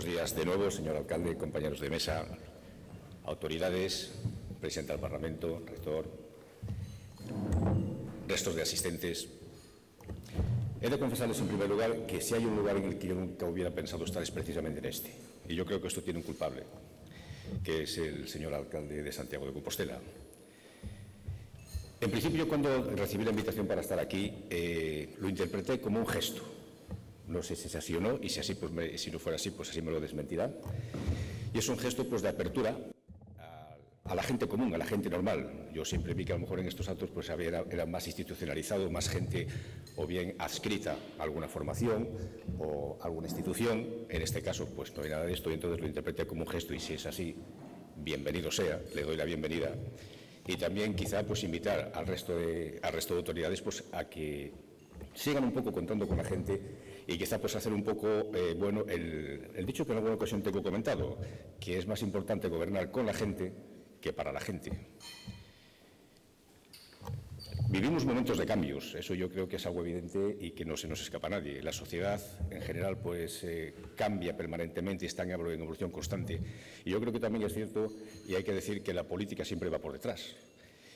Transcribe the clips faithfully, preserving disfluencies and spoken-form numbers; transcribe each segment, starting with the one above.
Buenos días de nuevo, señor alcalde, compañeros de mesa, autoridades, presidente del Parlamento, rector, restos de asistentes. He de confesarles en primer lugar que si hay un lugar en el que yo nunca hubiera pensado estar es precisamente en este. Y yo creo que esto tiene un culpable, que es el señor alcalde de Santiago de Compostela. En principio, cuando recibí la invitación para estar aquí, eh, lo interpreté como un gesto. No sé si es así o no, y si, así, pues me, si no fuera así, pues así me lo desmentirá. Y es un gesto pues, de apertura a, a la gente común, a la gente normal. Yo siempre vi que a lo mejor en estos actos pues, era, era más institucionalizado, más gente o bien adscrita a alguna formación o alguna institución. En este caso, pues no hay nada de esto, y entonces lo interpreté como un gesto, y si es así, bienvenido sea, le doy la bienvenida. Y también quizá pues, invitar al resto de, al resto de autoridades pues, a que sigan un poco contando con la gente y quizá pues hacer un poco, eh, bueno, el, el dicho que en alguna ocasión tengo comentado, que es más importante gobernar con la gente que para la gente. Vivimos momentos de cambios, eso yo creo que es algo evidente y que no se nos escapa a nadie. La sociedad en general pues eh, cambia permanentemente y está en evolución constante. Y yo creo que también es cierto, y hay que decir, que la política siempre va por detrás.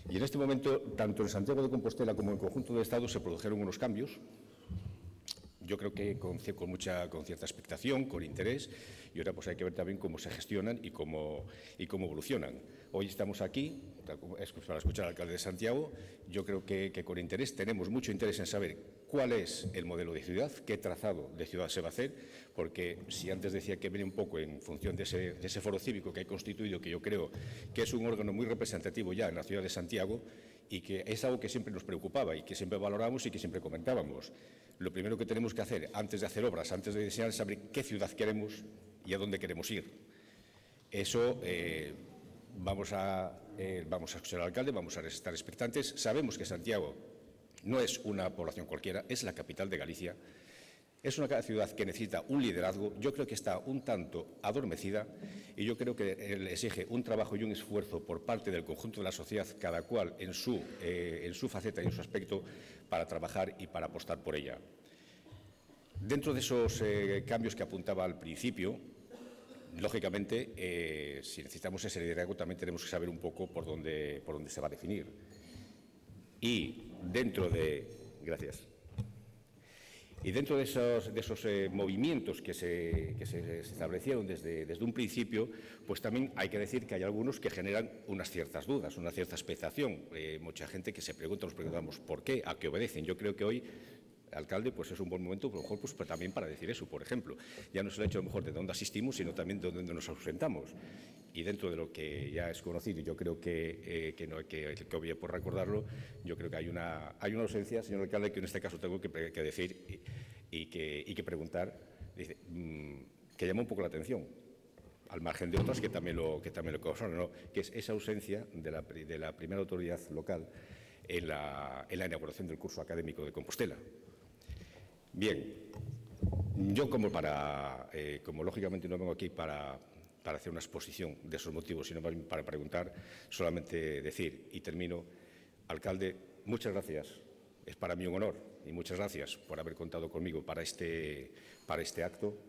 Y en este momento, tanto en Santiago de Compostela como en el conjunto del Estado se produjeron unos cambios. Yo creo que con, con, mucha, con cierta expectación, con interés, y ahora pues hay que ver también cómo se gestionan y cómo, y cómo evolucionan. Hoy estamos aquí para escuchar al alcalde de Santiago. Yo creo que, que con interés, tenemos mucho interés en saber cuál es el modelo de ciudad, qué trazado de ciudad se va a hacer, porque si antes decía que viene un poco en función de ese, de ese foro cívico que hay constituido, que yo creo que es un órgano muy representativo ya en la ciudad de Santiago, y que es algo que siempre nos preocupaba y que siempre valoramos y que siempre comentábamos. Lo primero que tenemos que hacer antes de hacer obras, antes de diseñar, es saber qué ciudad queremos y a dónde queremos ir. Eso eh, vamos, a, eh, vamos a escuchar al alcalde, vamos a estar expectantes. Sabemos que Santiago no es una población cualquiera, es la capital de Galicia. Es una ciudad que necesita un liderazgo. Yo creo que está un tanto adormecida y yo creo que le exige un trabajo y un esfuerzo por parte del conjunto de la sociedad, cada cual en su, eh, en su faceta y en su aspecto, para trabajar y para apostar por ella. Dentro de esos eh, cambios que apuntaba al principio, lógicamente, eh, si necesitamos ese liderazgo, también tenemos que saber un poco por dónde, por dónde se va a definir. Y dentro de... Gracias. Y dentro de esos, de esos eh, movimientos que, se, que se, se establecieron desde, desde un principio, pues también hay que decir que hay algunos que generan unas ciertas dudas, una cierta expectación. Eh, mucha gente que se pregunta, nos preguntamos ¿por qué? ¿A qué obedecen? Yo creo que hoy, alcalde, pues es un buen momento, a lo mejor, pues, también para decir eso, por ejemplo. Ya no es el hecho, a lo mejor, de dónde asistimos, sino también de dónde nos ausentamos. Y dentro de lo que ya es conocido, yo creo que, eh, que no hay que, que obvie por recordarlo, yo creo que hay una, hay una ausencia, señor alcalde, que en este caso tengo que, que decir y, y, que, y que preguntar, dice, mmm, que llama un poco la atención, al margen de otras que también lo, que también lo causaron, ¿no? Que es esa ausencia de la, de la primera autoridad local en la, en la inauguración del curso académico de Compostela. Bien, yo como para, eh, como lógicamente no vengo aquí para... para hacer una exposición de esos motivos, sino para preguntar, solamente decir, y termino, alcalde, muchas gracias, es para mí un honor, y muchas gracias por haber contado conmigo para este, para este acto.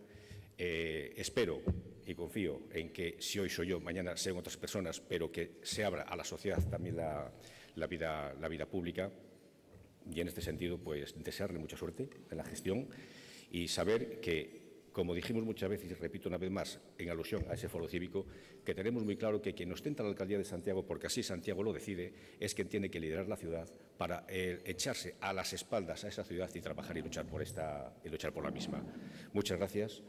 Eh, espero y confío en que si hoy soy yo, mañana sean otras personas, pero que se abra a la sociedad también la, la, vida, la vida pública, y en este sentido, pues, desearle mucha suerte en la gestión y saber que, como dijimos muchas veces, y repito una vez más, en alusión a ese foro cívico, que tenemos muy claro que quien ostenta la alcaldía de Santiago, porque así Santiago lo decide, es quien tiene que liderar la ciudad para eh, echarse a las espaldas a esa ciudad y trabajar y luchar por, esta, y luchar por la misma. Muchas gracias,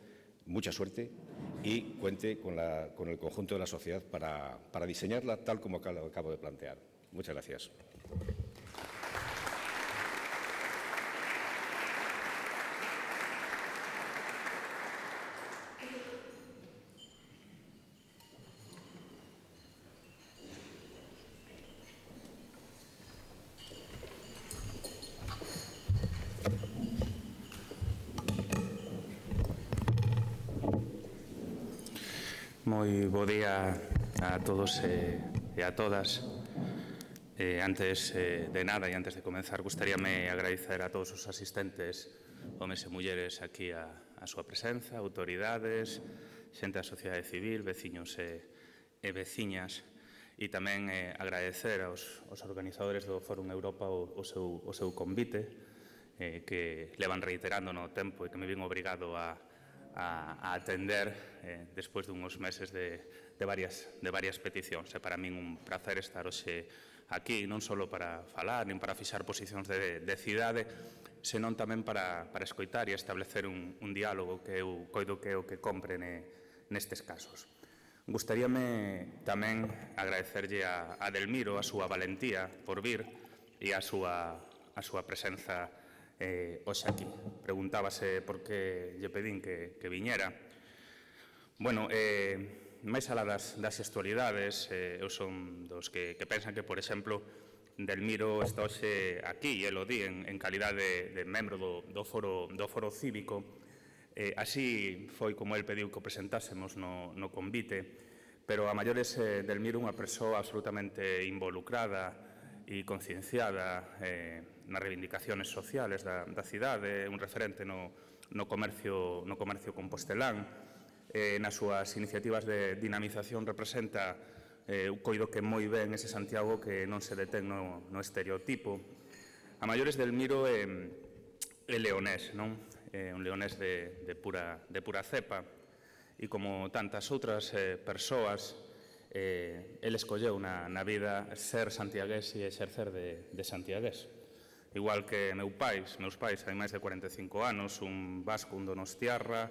mucha suerte y cuente con, la, con el conjunto de la sociedad para, para diseñarla tal como acabo de plantear. Muchas gracias. Moi bo día a todos e, e a todas. Eh, antes eh, de nada e antes de comenzar, gustaríame agradecer a todos os asistentes, homes e mulleres, aquí a, a súa presenza, autoridades, xente da sociedade civil, veciños e, e veciñas, e tamén eh, agradecer aos, aos organizadores do Fórum Europa o, o, seu, o seu convite, eh, que levan reiterando no tempo e que me vin obrigado a, a, a atender eh, despois dunhos meses de, de, varias, de varias peticións. É para min un placer estar hoxe aquí, non só para falar, nin para fixar posicións de, de cidade, senón tamén para, para escoitar e establecer un, un diálogo que eu coido que é o que compre ne, nestes casos. Gustaríame tamén agradecerlle a, a Delmiro a súa valentía por vir e a súa, a súa presenza eh, hoxe aquí. Preguntábase por que lle pedín que, que viñera. Bueno, eh, máis alá das, das gestualidades, eh, eu son dos que, que pensan que, por exemplo, Delmiro está hoxe aquí, e lo di, en, en calidade de, de membro do, do, foro, do foro cívico. Eh, así foi como el pediu que o presentásemos no, no convite, pero a maiores eh, Delmiro unha persoa absolutamente involucrada e concienciada eh, nas reivindicaciones sociales da, da cidade, un referente no, no, comercio, no comercio compostelán. Eh, nas súas iniciativas de dinamización representa eh, o coido que moi ben ese Santiago que non se detén no, no estereotipo. A maiores Delmiro é, é leonés, non? É un leonés de, de, pura, de pura cepa, e como tantas outras eh, persoas, eh, el escolleu na, na vida ser santiagués e exercer de, de santiagués. Igual que meu pais, meus pais hai máis de cuarenta e cinco anos, un vasco, un donostiarra,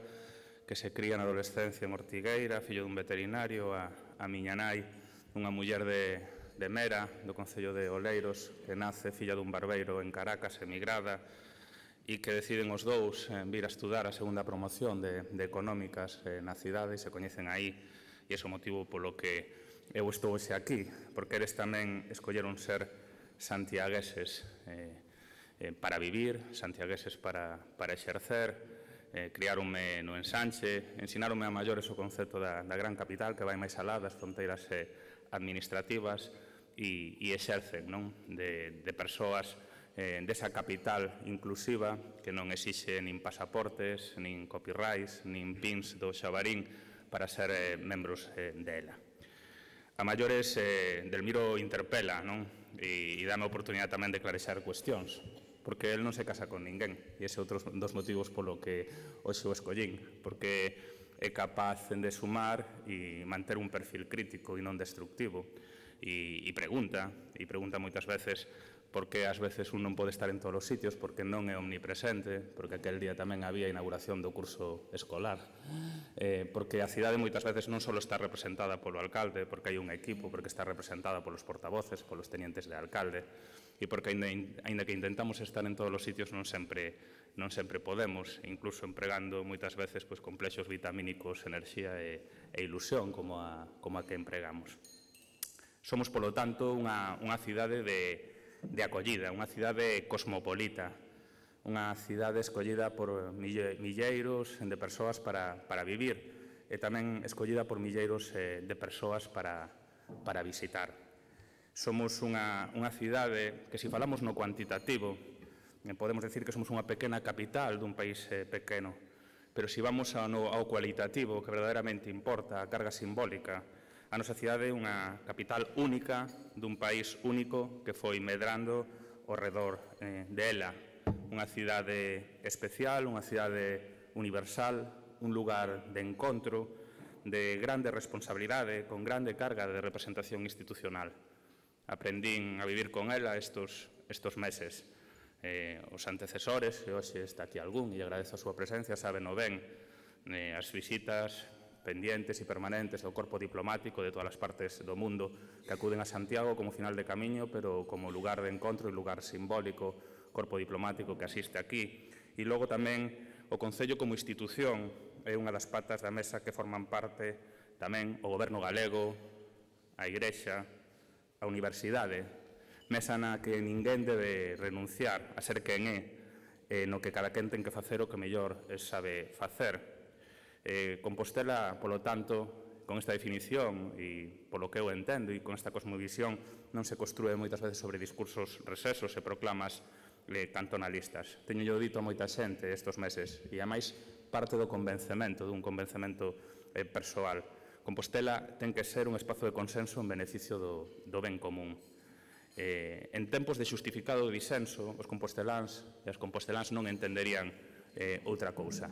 que se cría na adolescencia en Ortigueira, fillo dun veterinario, a, a miña nai, unha muller de, de Mera, do concello de Oleiros, que nace filla dun barbeiro en Caracas, emigrada, e que deciden os dous eh, vir a estudar a segunda promoción de, de económicas eh, na cidade, e se coñecen aí, e ese é o motivo polo que eu estou hoxe aquí, porque eles tamén escolleron ser santiagueses eh, eh, para vivir, santiagueses para, para exercer. Eh, criáronme no Ensanche, ensinaronme a maiores o concepto da, da gran capital que vai máis alá das fronteiras eh, administrativas e, e exercen, non? De, de persoas eh, desa capital inclusiva que non exixe nin pasaportes, nin copyrights, nin pins do xabarín para ser eh, membros eh, dela. A maiores, eh, Delmiro interpela, non? E, e dame a oportunidade tamén de clarexar cuestións, porque el non se casa con ninguén, e ese é outro dos motivos polo que hoxe o escollín, porque é capaz de sumar e manter un perfil crítico e non destructivo, e, e pregunta, e pregunta moitas veces por que ás veces un non pode estar en todos os sitios, porque non é omnipresente, porque aquel día tamén había inauguración do curso escolar, eh, porque a cidade moitas veces non só está representada polo alcalde, porque hai un equipo, porque está representada polos portavoces, polos tenientes de alcalde, e porque, aínda que intentamos estar en todos os sitios, non sempre, non sempre podemos, incluso empregando moitas veces pois, complexos vitamínicos, enerxía e, e ilusión, como a, como a que empregamos. Somos, polo tanto, unha, unha cidade de, de acollida, unha cidade cosmopolita, unha cidade escollida por mille, milleiros de persoas para, para vivir, e tamén escollida por milleiros eh, de persoas para, para visitar. Somos unha, unha cidade que, se falamos no cuantitativo, eh, podemos decir que somos unha pequena capital dun país eh, pequeno, pero se vamos ao, no, ao cualitativo, que verdadeiramente importa, a carga simbólica, a nosa cidade é unha capital única dun país único que foi medrando ao redor eh, dela. Unha cidade especial, unha cidade universal, un lugar de encontro, de grande responsabilidade, con grande carga de representación institucional. Aprendín a vivir con ela estos, estos meses. Eh, os antecesores, e hoxe está aquí algún, e agradezo a súa presencia, saben o ben, eh, as visitas pendientes e permanentes do corpo diplomático de todas as partes do mundo que acuden a Santiago como final de camiño, pero como lugar de encontro e lugar simbólico, corpo diplomático que asiste aquí. E logo tamén o Concello como institución é unha das patas da mesa que forman parte tamén o Goberno galego, a Igrexa, a Universidade, mesa na que ninguén debe renunciar a ser quen é, eh, no que cada quen ten que facer o que mellor sabe facer. Eh, Compostela, polo tanto, con esta definición e polo que eu entendo e con esta cosmovisión non se construe moitas veces sobre discursos recesos e proclamas eh, cantonalistas. Teño yo dito a moita xente estes meses, e é máis parte do convencemento, dun convencemento eh, persoal. Compostela ten que ser un espazo de consenso en beneficio do, do ben común. Eh, en tempos de xustificado disenso, os composteláns e as composteláns non entenderían eh, outra cousa.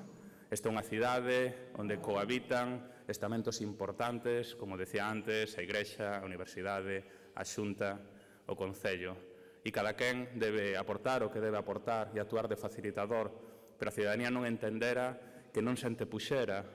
Esta é unha cidade onde cohabitan estamentos importantes, como decía antes, a Igrexa, a Universidade, a Xunta, o Concello. E cada quen debe aportar o que debe aportar e actuar de facilitador, pero a cidadanía non entendera que non se antepuxera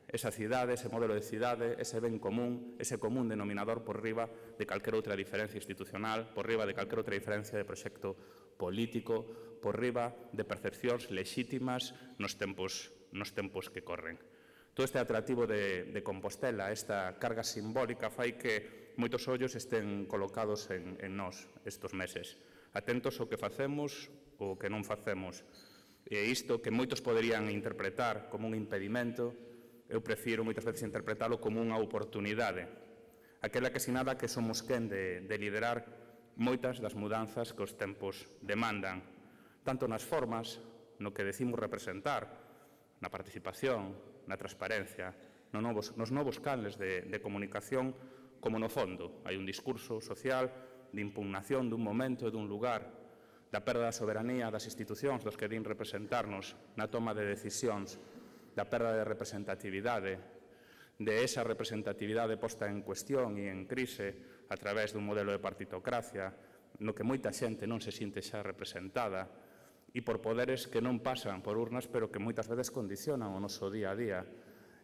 esa cidade, ese modelo de cidade, ese ben común, ese común denominador por riba de calquera outra diferencia institucional, por riba de calquera outra diferencia de proxecto político, por riba de percepcións lexítimas nos tempos nos tempos que corren. Todo este atractivo de, de Compostela, esta carga simbólica, fai que moitos ollos estén colocados en, en nós estes meses, atentos ao que facemos ou que non facemos. E isto que moitos poderían interpretar como un impedimento, eu prefiro moitas veces interpretalo como unha oportunidade, aquela que sinala que somos quen de, de liderar moitas das mudanzas que os tempos demandan, tanto nas formas, no que decimos representar, na participación, na transparencia, no novos, nos novos canles de, de comunicación, como no fondo. Hai un discurso social de impugnación dun momento e dun lugar, da perda da soberanía das institucións dos que din representarnos na toma de decisións, da perda de representatividade, de esa representatividade posta en cuestión e en crise a través dun modelo de partitocracia no que moita xente non se sinte xa representada, e por poderes que non pasan por urnas, pero que moitas veces condicionan o noso día a día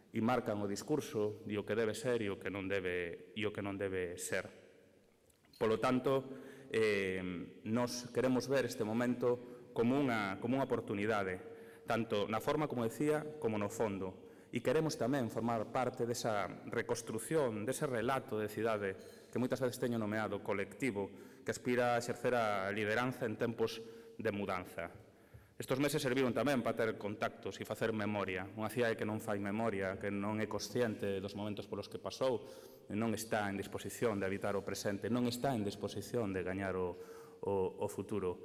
e marcan o discurso e o que debe ser e o que non debe, e o que non debe ser. Polo tanto, eh, nos queremos ver este momento como unha, como unha oportunidade, tanto na forma, como decía, como no fondo. E queremos tamén formar parte desa reconstrucción, dese relato de cidade que moitas veces teño nomeado colectivo, que aspira a exercer a lideranza en tempos de mudanza. Estes meses serviron tamén para ter contactos e facer memoria. Unha cidade que non fai memoria, que non é consciente dos momentos polos que pasou, non está en disposición de habitar o presente, non está en disposición de gañar o, o, o futuro.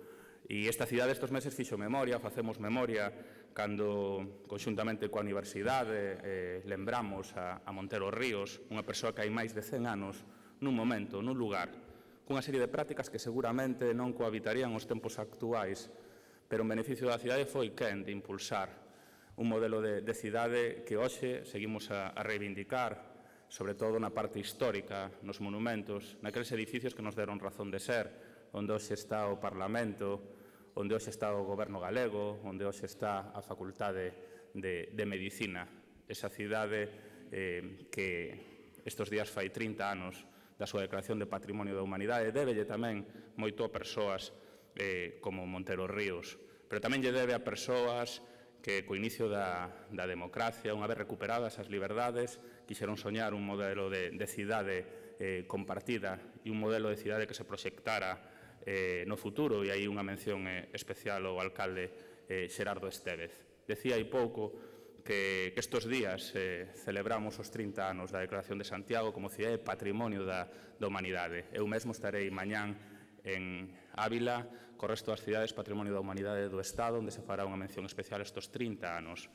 E esta cidade estes meses fixo memoria, facemos memoria, cando, conxuntamente coa Universidade, eh, lembramos a, a Montero Ríos, unha persoa que hai máis de cen anos, nun momento, nun lugar, cunha serie de prácticas que seguramente non cohabitarían os tempos actuais, pero en beneficio da cidade foi quen de impulsar un modelo de, de cidade que hoxe seguimos a, a reivindicar, sobre todo na parte histórica, nos monumentos, naqueles edificios que nos deron razón de ser, onde hoxe está o Parlamento, onde hoxe está o Goberno galego, onde hoxe está a Facultade de, de Medicina, esa cidade eh, que estes días fai trinta anos da súa declaración de Patrimonio da Humanidade, débelle tamén moito a persoas eh, como Montero Ríos, pero tamén lle debe a persoas que co inicio da, da democracia, unha vez recuperadas as liberdades, quixeron soñar un modelo de, de cidade eh, compartida e un modelo de cidade que se proxectara eh, no futuro, e aí unha mención eh, especial ao alcalde eh, Xerardo Estévez. Decía hai pouco que, que estes días eh, celebramos os trinta anos da Declaración de Santiago como cidade patrimonio da, da humanidade. Eu mesmo estarei mañán en Ávila, co resto das cidades Patrimonio da Humanidade do Estado, onde se fará unha mención especial estes trinta anos.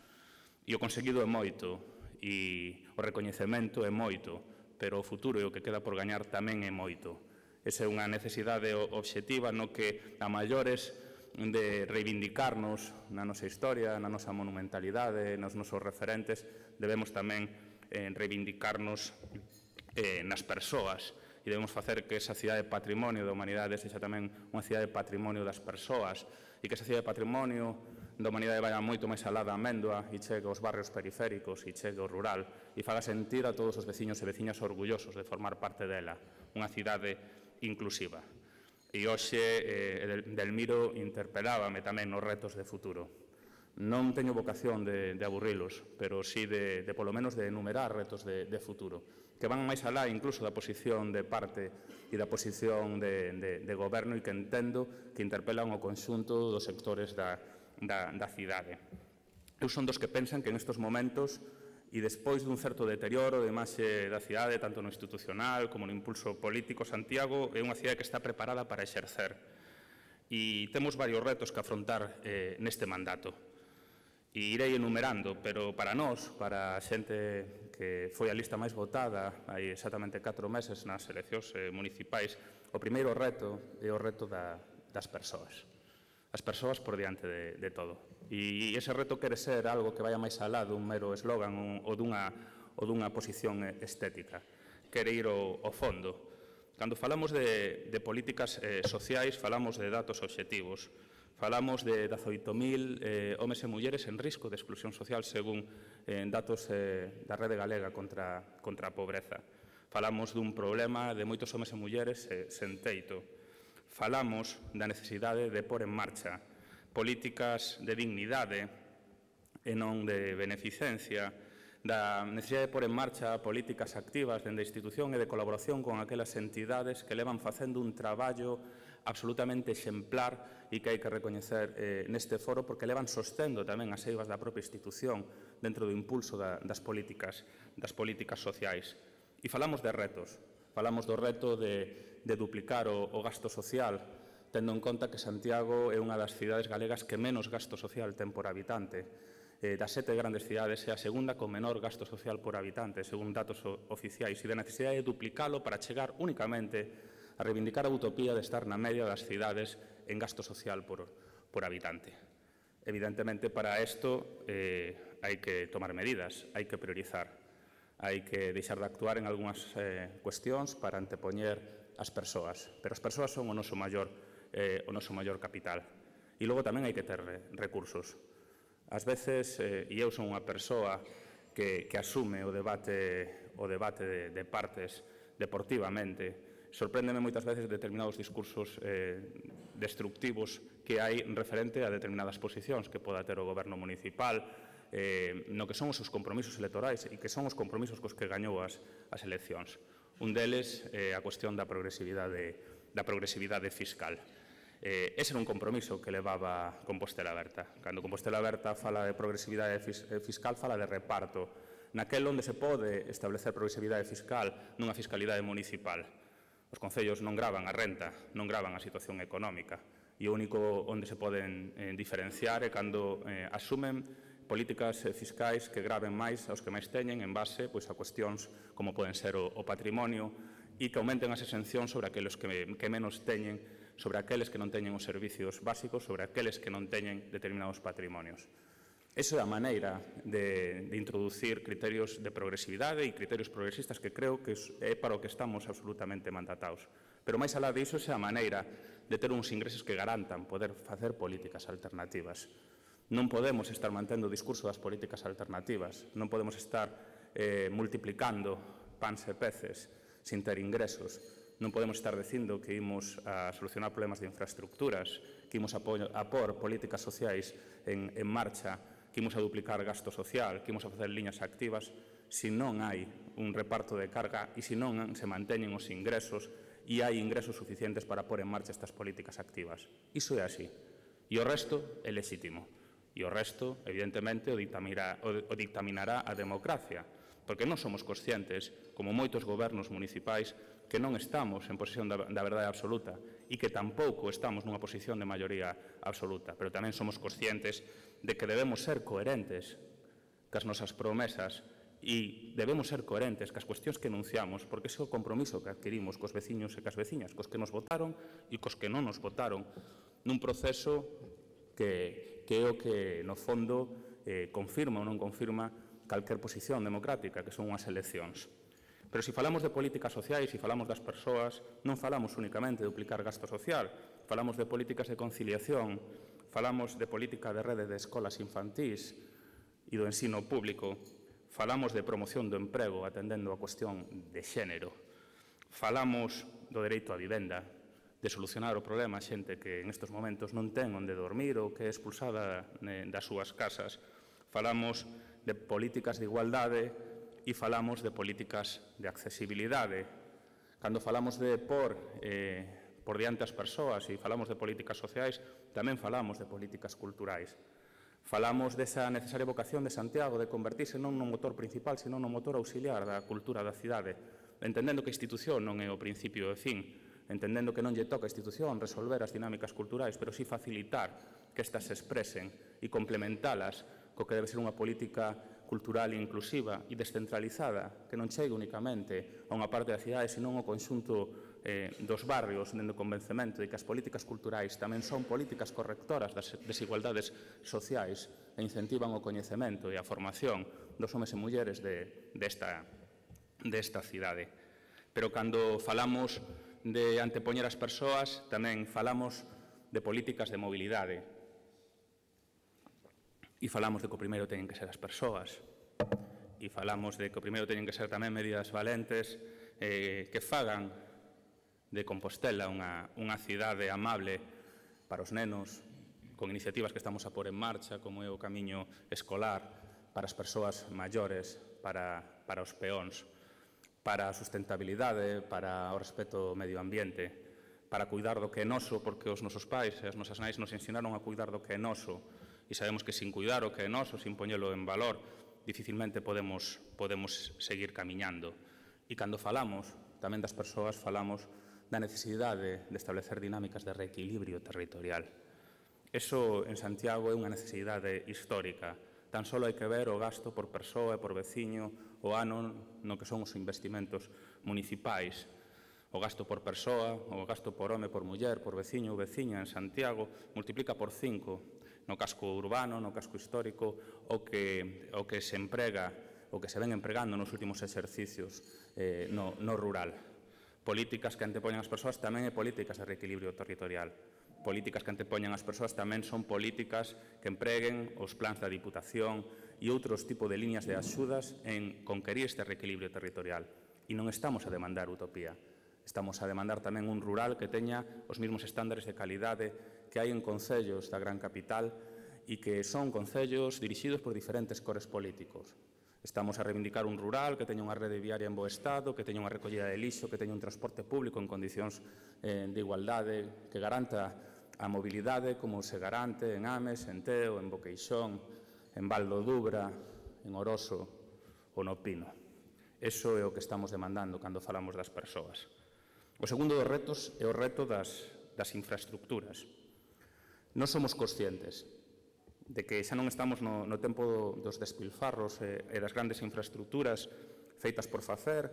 E o conseguido é moito, e o recoñecemento é moito, pero o futuro e o que queda por gañar tamén é moito. Esa é unha necesidade obxectiva no que a maiores de reivindicarnos na nosa historia, na nosa monumentalidade, nos nosos referentes, debemos tamén eh, reivindicarnos eh, nas persoas, e debemos facer que esa cidade patrimonio da humanidade sexa tamén unha cidade patrimonio das persoas, e que esa cidade patrimonio da humanidade vaya moito máis alá da Améndoa e chegue aos barrios periféricos e chegue ao rural e faga sentir a todos os veciños e veciñas orgullosos de formar parte dela, unha cidade inclusiva. E hoxe eh, Delmiro interpelábame tamén nos retos de futuro. Non teño vocación de, de aburrilos, pero sí de, de polo menos de enumerar retos de, de futuro, que van máis alá incluso da posición de parte e da posición de, de, de goberno, e que entendo que interpelan o conxunto dos sectores da, da, da cidade. Eu son dos que pensan que en estes momentos, e despois dun certo deterioro de imaxe da cidade, tanto no institucional como no impulso político, Santiago é unha cidade que está preparada para exercer. E temos varios retos que afrontar eh, neste mandato. E irei enumerando, pero para nós, para a xente que foi a lista máis votada hai exactamente catro meses nas eleccións eh, municipais, o primeiro reto é o reto da, das persoas. As persoas por diante de, de todo. E ese reto quere ser algo que vaya máis alá dun mero eslogan ou dunha, ou dunha posición estética. Quere ir ao, ao fondo. Cando falamos de, de políticas eh, sociais, falamos de datos obxectivos. Falamos de dezaoito mil eh, homes e mulleres en risco de exclusión social según eh, datos eh, da Rede Galega contra, contra a pobreza. Falamos dun problema de moitos homes e mulleres eh, sen teito. Falamos da necesidade de pôr en marcha políticas de dignidade e non de beneficencia, da necesidade de pôr en marcha políticas activas dende a institución e de colaboración con aquelas entidades que levan facendo un traballo absolutamente exemplar e que hai que recoñecer eh, neste foro porque levan sostendo tamén as eivas da propia institución dentro do impulso da, das políticas das políticas sociais. E falamos de retos. Falamos do reto de, de duplicar o, o gasto social, tendo en conta que Santiago é unha das cidades galegas que menos gasto social ten por habitante. Eh, das sete grandes cidades é a segunda con menor gasto social por habitante, según datos oficiais, e da necesidade de duplicalo para chegar únicamente a reivindicar a utopía de estar na media das cidades en gasto social por, por habitante. Evidentemente, para isto eh, hai que tomar medidas, hai que priorizar. Hai que deixar de actuar en algunhas eh, cuestións para antepoñer as persoas. Pero as persoas son o noso maior, eh, o noso maior capital. E logo tamén hai que ter recursos. Ás veces, eh, e eu son unha persoa que, que asume o debate, o debate de, de partes deportivamente, sorpréndeme moitas veces determinados discursos eh, destructivos que hai referente a determinadas posicións que poda ter o goberno municipal, eh, no que son os seus compromisos electorais e que son os compromisos cos que gañou as, as eleccións. Un deles é eh, a cuestión da progresividade, da progresividade fiscal. Eh, ese era un compromiso que levaba Compostela Aberta. Cando Compostela Aberta fala de progresividade fis, eh, fiscal, fala de reparto. Naquel onde se pode establecer progresividade fiscal nunha fiscalidade municipal. Os concellos non gravan a renta, non gravan a situación económica. E o único onde se poden eh, diferenciar é cando eh, asumen políticas fiscais que graven máis aos que máis teñen en base pois, a cuestións como poden ser o, o patrimonio e que aumenten as exencións sobre aqueles que, que menos teñen, sobre aqueles que non teñen os servicios básicos, sobre aqueles que non teñen determinados patrimonios. Esa é a maneira de, de introducir criterios de progresividade e criterios progresistas que creo que é para o que estamos absolutamente mandatados. Pero máis alá disso, esa é a maneira de ter uns ingresos que garantan poder facer políticas alternativas. Non podemos estar mantendo o discurso das políticas alternativas, non podemos estar eh, multiplicando pans e peces sin ter ingresos, non podemos estar dicindo que imos a solucionar problemas de infraestructuras, que imos a, a por políticas sociais en, en marcha, que imos a duplicar gasto social, que imos a facer liñas activas, se non hai un reparto de carga e se non se manteñen os ingresos e hai ingresos suficientes para pôr en marcha estas políticas activas. Iso é así. E o resto é lexítimo. E o resto, evidentemente, o dictaminará, o dictaminará a democracia, porque non somos conscientes, como moitos gobernos municipais, que non estamos en posesión da, da verdade absoluta e que tampouco estamos nunha posición de maioría absoluta, pero tamén somos conscientes de que debemos ser coherentes cas nosas promesas e debemos ser coherentes cas cuestións que enunciamos, porque ese é o compromiso que adquirimos cos veciños e cas veciñas, cos que nos votaron e cos que non nos votaron, nun proceso que, que é o que, no fondo, eh, confirma ou non confirma calquer posición democrática, que son unhas eleccións. Pero se falamos de políticas sociais, se falamos das persoas, non falamos únicamente de duplicar gasto social, falamos de políticas de conciliación, falamos de política de rede de escolas infantís e do ensino público, falamos de promoción do emprego atendendo a cuestión de xénero, falamos do dereito á vivenda, de solucionar o problema a xente que en estes momentos non ten onde dormir ou que é expulsada das súas casas, falamos de políticas de igualdade e falamos de políticas de accesibilidade. Cando falamos de por, eh, por diante as persoas e falamos de políticas sociais, tamén falamos de políticas culturais. Falamos desa necesaria vocación de Santiago de convertirse non no motor principal, senón no motor auxiliar da cultura da cidade, entendendo que a institución non é o principio e fin, entendendo que non lle toca a institución resolver as dinámicas culturais, pero sí facilitar que estas se expresen e complementalas co que debe ser unha política cultural inclusiva e descentralizada, que non chegue únicamente a unha parte da cidade, senón ao conxunto eh, dos barrios, dende o convencemento de que as políticas culturais tamén son políticas correctoras das desigualdades sociais e incentivan o coñecemento e a formación dos homes e mulleres de, desta, desta cidade. Pero cando falamos de antepoñer as persoas, tamén falamos de políticas de mobilidade. E falamos de que o primeiro teñen que ser as persoas. E falamos de que o primeiro teñen que ser tamén medidas valentes eh, que fagan de Compostela unha, unha cidade amable para os nenos, con iniciativas que estamos a pôr en marcha, como é o camiño escolar, para as persoas maiores, para, para os peóns, para a sustentabilidade, para o respeto ao medio ambiente, para cuidar do que é noso, porque os nosos pais e as nosas nais nos ensinaron a cuidar do que é noso, e sabemos que sin cuidar o que é noso, sin poñelo en valor, dificilmente podemos, podemos seguir camiñando. E cando falamos tamén das persoas, falamos da necesidade de establecer dinámicas de reequilibrio territorial. Eso en Santiago é unha necesidade histórica. Tan só hai que ver o gasto por persoa e por veciño o ano no que son os investimentos municipais. O gasto por persoa, o gasto por home, por muller, por veciño ou veciña en Santiago multiplica por cinco no casco urbano, no casco histórico, o que, o que se emprega, o que se ven empregando nos últimos exercicios eh, no, no rural. Políticas que antepoñan as persoas tamén é políticas de reequilibrio territorial. Políticas que antepoñan as persoas tamén son políticas que empreguen os plans da Diputación e outros tipos de líneas de axudas en conquerir este reequilibrio territorial. E non estamos a demandar utopía. Estamos a demandar tamén un rural que teña os mesmos estándares de calidade que hai en concellos da gran capital e que son concellos dirixidos por diferentes cores políticos. Estamos a reivindicar un rural que teña unha rede viaria en bo estado, que teña unha recollida de lixo, que teña un transporte público en condicións eh, de igualdade, que garanta a mobilidade como se garante en Ames, en Teo, en Boqueixón, en Valdo Dubra, en Oroso ou no Pino. Eso é o que estamos demandando cando falamos das persoas. O segundo dos retos é o reto das, das infraestructuras. Non somos conscientes de que xa non estamos no, no tempo dos despilfarros e, e das grandes infraestructuras feitas por facer,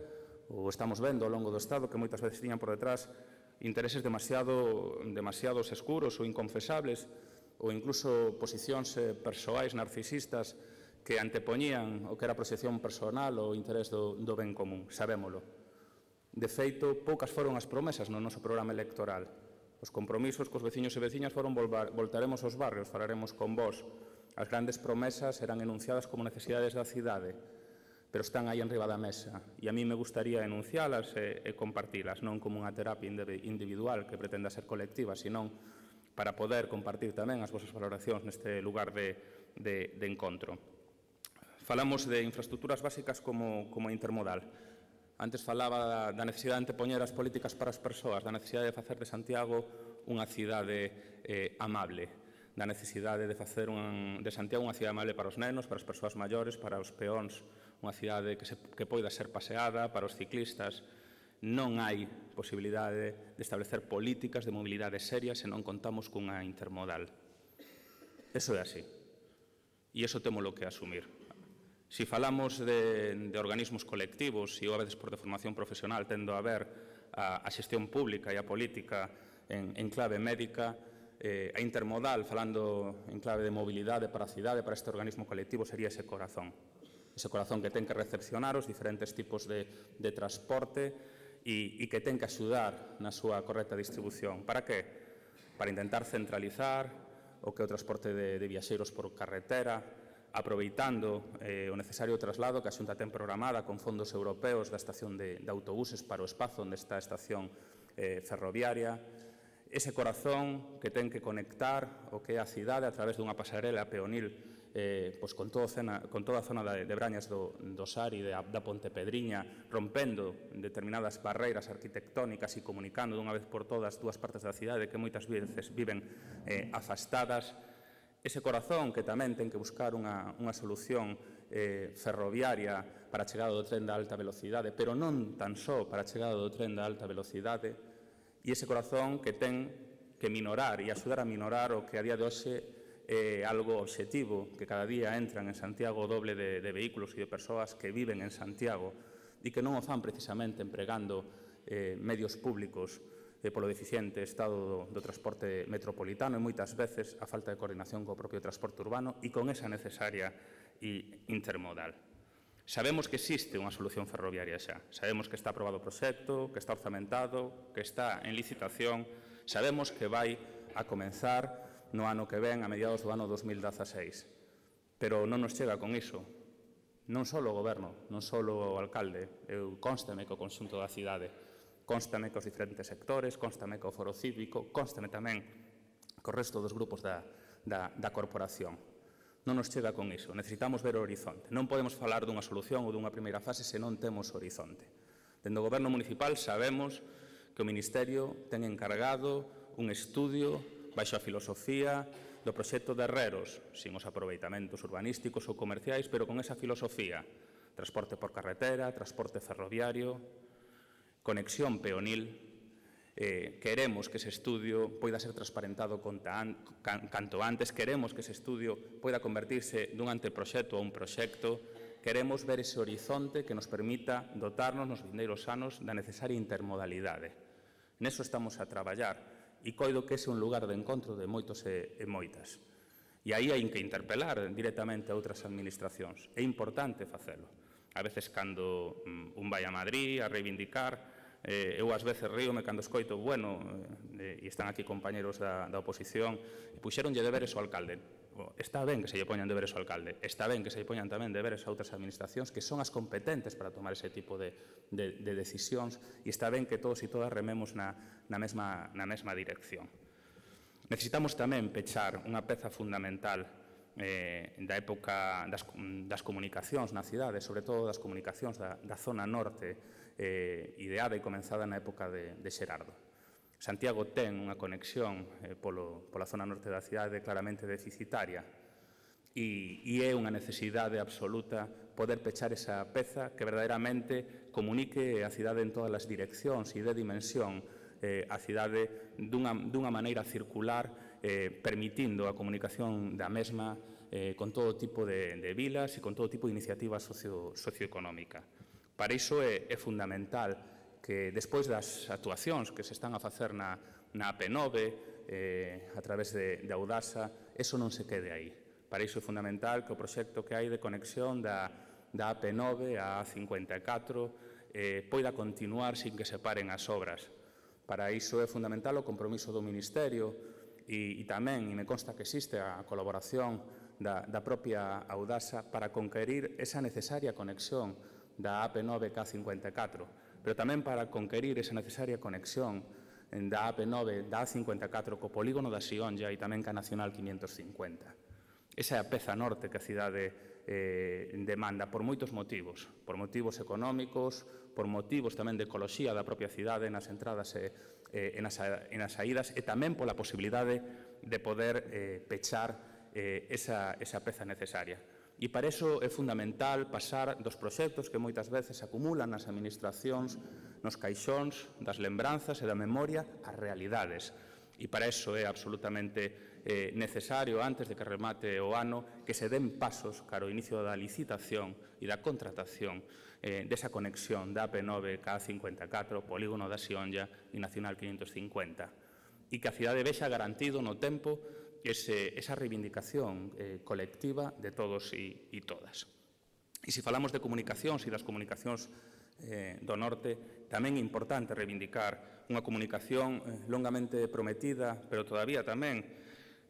ou estamos vendo ao longo do Estado que moitas veces tiñan por detrás intereses demasiado, demasiados escuros ou inconfesables, ou incluso posicións eh, persoais narcisistas que antepoñían o que era a proxección personal ou o interés do, do ben común, sabémolo. De feito, poucas foron as promesas no noso programa electoral. Os compromisos cos veciños e veciñas foron volvar, voltaremos aos barrios, falaremos con vós. As grandes promesas eran enunciadas como necesidades da cidade, pero están aí enriba da mesa. E a mí me gustaría enuncialas e, e compartilas, non como unha terapia individual que pretenda ser colectiva, senón para poder compartir tamén as vosas valoracións neste lugar de, de, de encontro. Falamos de infraestructuras básicas como, como intermodal. Antes falaba da necesidade de antepoñer as políticas para as persoas, da necesidade de facer de Santiago unha cidade eh, amable, da necesidade de facer un, de Santiago unha cidade amable para os nenos, para as persoas maiores, para os peóns, unha cidade que, se, que poida ser paseada, para os ciclistas. Non hai posibilidade de establecer políticas de mobilidade serias se non contamos cunha intermodal. Eso é así. E iso témolo que asumir. Si falamos de, de organismos colectivos e ou a veces por deformación profesional tendo a ver a, a xestión pública e a política en, en clave médica, eh, a intermodal, falando en clave de mobilidade para a cidade, para este organismo colectivo, sería ese corazón. Ese corazón que ten que recepcionar os diferentes tipos de, de transporte e, e que ten que axudar na súa correcta distribución. Para que? Para intentar centralizar o que é o transporte de, de viaxeiros por carretera, aproveitando eh, o necesario traslado que a Xunta ten programada con fondos europeos da estación de, de autobuses para o espazo onde está a estación eh, ferroviaria, ese corazón que ten que conectar o que é a cidade a través dunha pasarela peonil eh, pois con, todo cena, con toda a zona de, de Brañas do, do Sari, de, da Pontepedriña, rompendo determinadas barreiras arquitectónicas e comunicando dunha vez por todas dúas partes da cidade que moitas veces viven eh, afastadas. Ese corazón que tamén ten que buscar unha, unha solución eh, ferroviaria para a chegada do tren da alta velocidade, pero non tan só para a chegada do tren da alta velocidade, E ese corazón que ten que minorar e axudar a minorar o que a día de hoxe é algo obxectivo, que cada día entran en Santiago o doble de, de vehículos e de persoas que viven en Santiago e que non o fan precisamente empregando eh, medios públicos eh, polo deficiente estado do, do transporte metropolitano e moitas veces a falta de coordinación co propio transporte urbano e con esa necesaria e intermodal. Sabemos que existe unha solución ferroviaria xa, sabemos que está aprobado o proxecto, que está orzamentado, que está en licitación, sabemos que vai a comenzar no ano que ven, a mediados do ano dos mil dezaseis. Pero non nos chega con iso. Non só o goberno, non só o alcalde, eu constame co conxunto da cidade, constame cos diferentes sectores, constame co foro cívico, constame tamén co resto dos grupos da, da, da corporación. Non nos chega con iso, necesitamos ver o horizonte. Non podemos falar dunha solución ou dunha primeira fase se non temos horizonte. Dende o goberno municipal sabemos que o Ministerio ten encargado un estudio baixo a filosofía do proxecto de Herreros, sin os aproveitamentos urbanísticos ou comerciais, pero con esa filosofía. Transporte por carretera, transporte ferroviario, conexión peonil. Eh, queremos que ese estudio poida ser transparentado an, can, canto antes, queremos que ese estudio poida convertirse dun anteproxecto a un proxecto, queremos ver ese horizonte que nos permita dotarnos nos vindeiros anos da necesaria intermodalidade. Neso estamos a traballar. E coido que ese é un lugar de encontro de moitos e, e moitas. E aí hai que interpelar directamente a outras administracións. É importante facelo. A veces, cando um, un vai a Madrid a reivindicar, eh, eu ás veces ríome cando escoito, bueno, eh, e están aquí compañeros da, da oposición, e puxeronlle deberes ao alcalde. Está ben que se lle poñan deberes ao alcalde, está ben que se lle poñan tamén deberes a outras administracións que son as competentes para tomar ese tipo de, de, de decisións e está ben que todos e todas rememos na, na, mesma, na mesma dirección. Necesitamos tamén pechar unha peza fundamental eh, da época das, das comunicacións na cidade, sobre todo das comunicacións da, da zona norte, eh, ideada e comenzada na época de, de Xerardo. Santiago ten unha conexión eh, polo, pola zona norte da cidade claramente deficitaria e, e é unha necesidade absoluta poder pechar esa peza que verdadeiramente comunique a cidade en todas as direccións e dé dimensión eh, a cidade dunha, dunha maneira circular, eh, permitindo a comunicación da mesma eh, con todo tipo de, de vilas e con todo tipo de iniciativa socio, socioeconómica. Para iso é, é fundamental que despois das actuacións que se están a facer na, na A P nove, eh, a través de, de Audasa, eso non se quede aí. Para iso é fundamental que o proxecto que hai de conexión da, da A P nove a A cincuenta e catro eh, poida continuar sin que se paren as obras. Para iso é fundamental o compromiso do Ministerio e, e tamén, e me consta que existe a colaboración da, da propia Audasa para conquerir esa necesaria conexión da A P nove ca A cincuenta e catro, pero tamén para conquerir esa necesaria conexión da A P nove, da A cincuenta e catro co polígono da Xionlla e tamén ca Nacional quinientos cincuenta. Esa é a peza norte que a cidade eh, demanda por moitos motivos, por motivos económicos, por motivos tamén de ecoloxía da propia cidade nas entradas e, eh, e, nas, e nas saídas e tamén pola posibilidade de poder eh, pechar eh, esa, esa peza necesaria. E para iso é fundamental pasar dos proxectos que moitas veces se acumulan nas administracións, nos caixóns das lembranzas e da memoria, ás realidades. E para iso é absolutamente eh, necesario, antes de que remate o ano, que se den pasos cara ao inicio da licitación e da contratación eh, desa conexión da A P nove ca A cincuenta e catro, polígono da Xionlla e Nacional quinientos cincuenta. E que a cidade vexa garantido no tempo Ese, esa reivindicación eh, colectiva de todos e, e todas. E se falamos de comunicacións e das comunicacións eh, do norte, tamén é importante reivindicar unha comunicación eh, longamente prometida, pero todavía tamén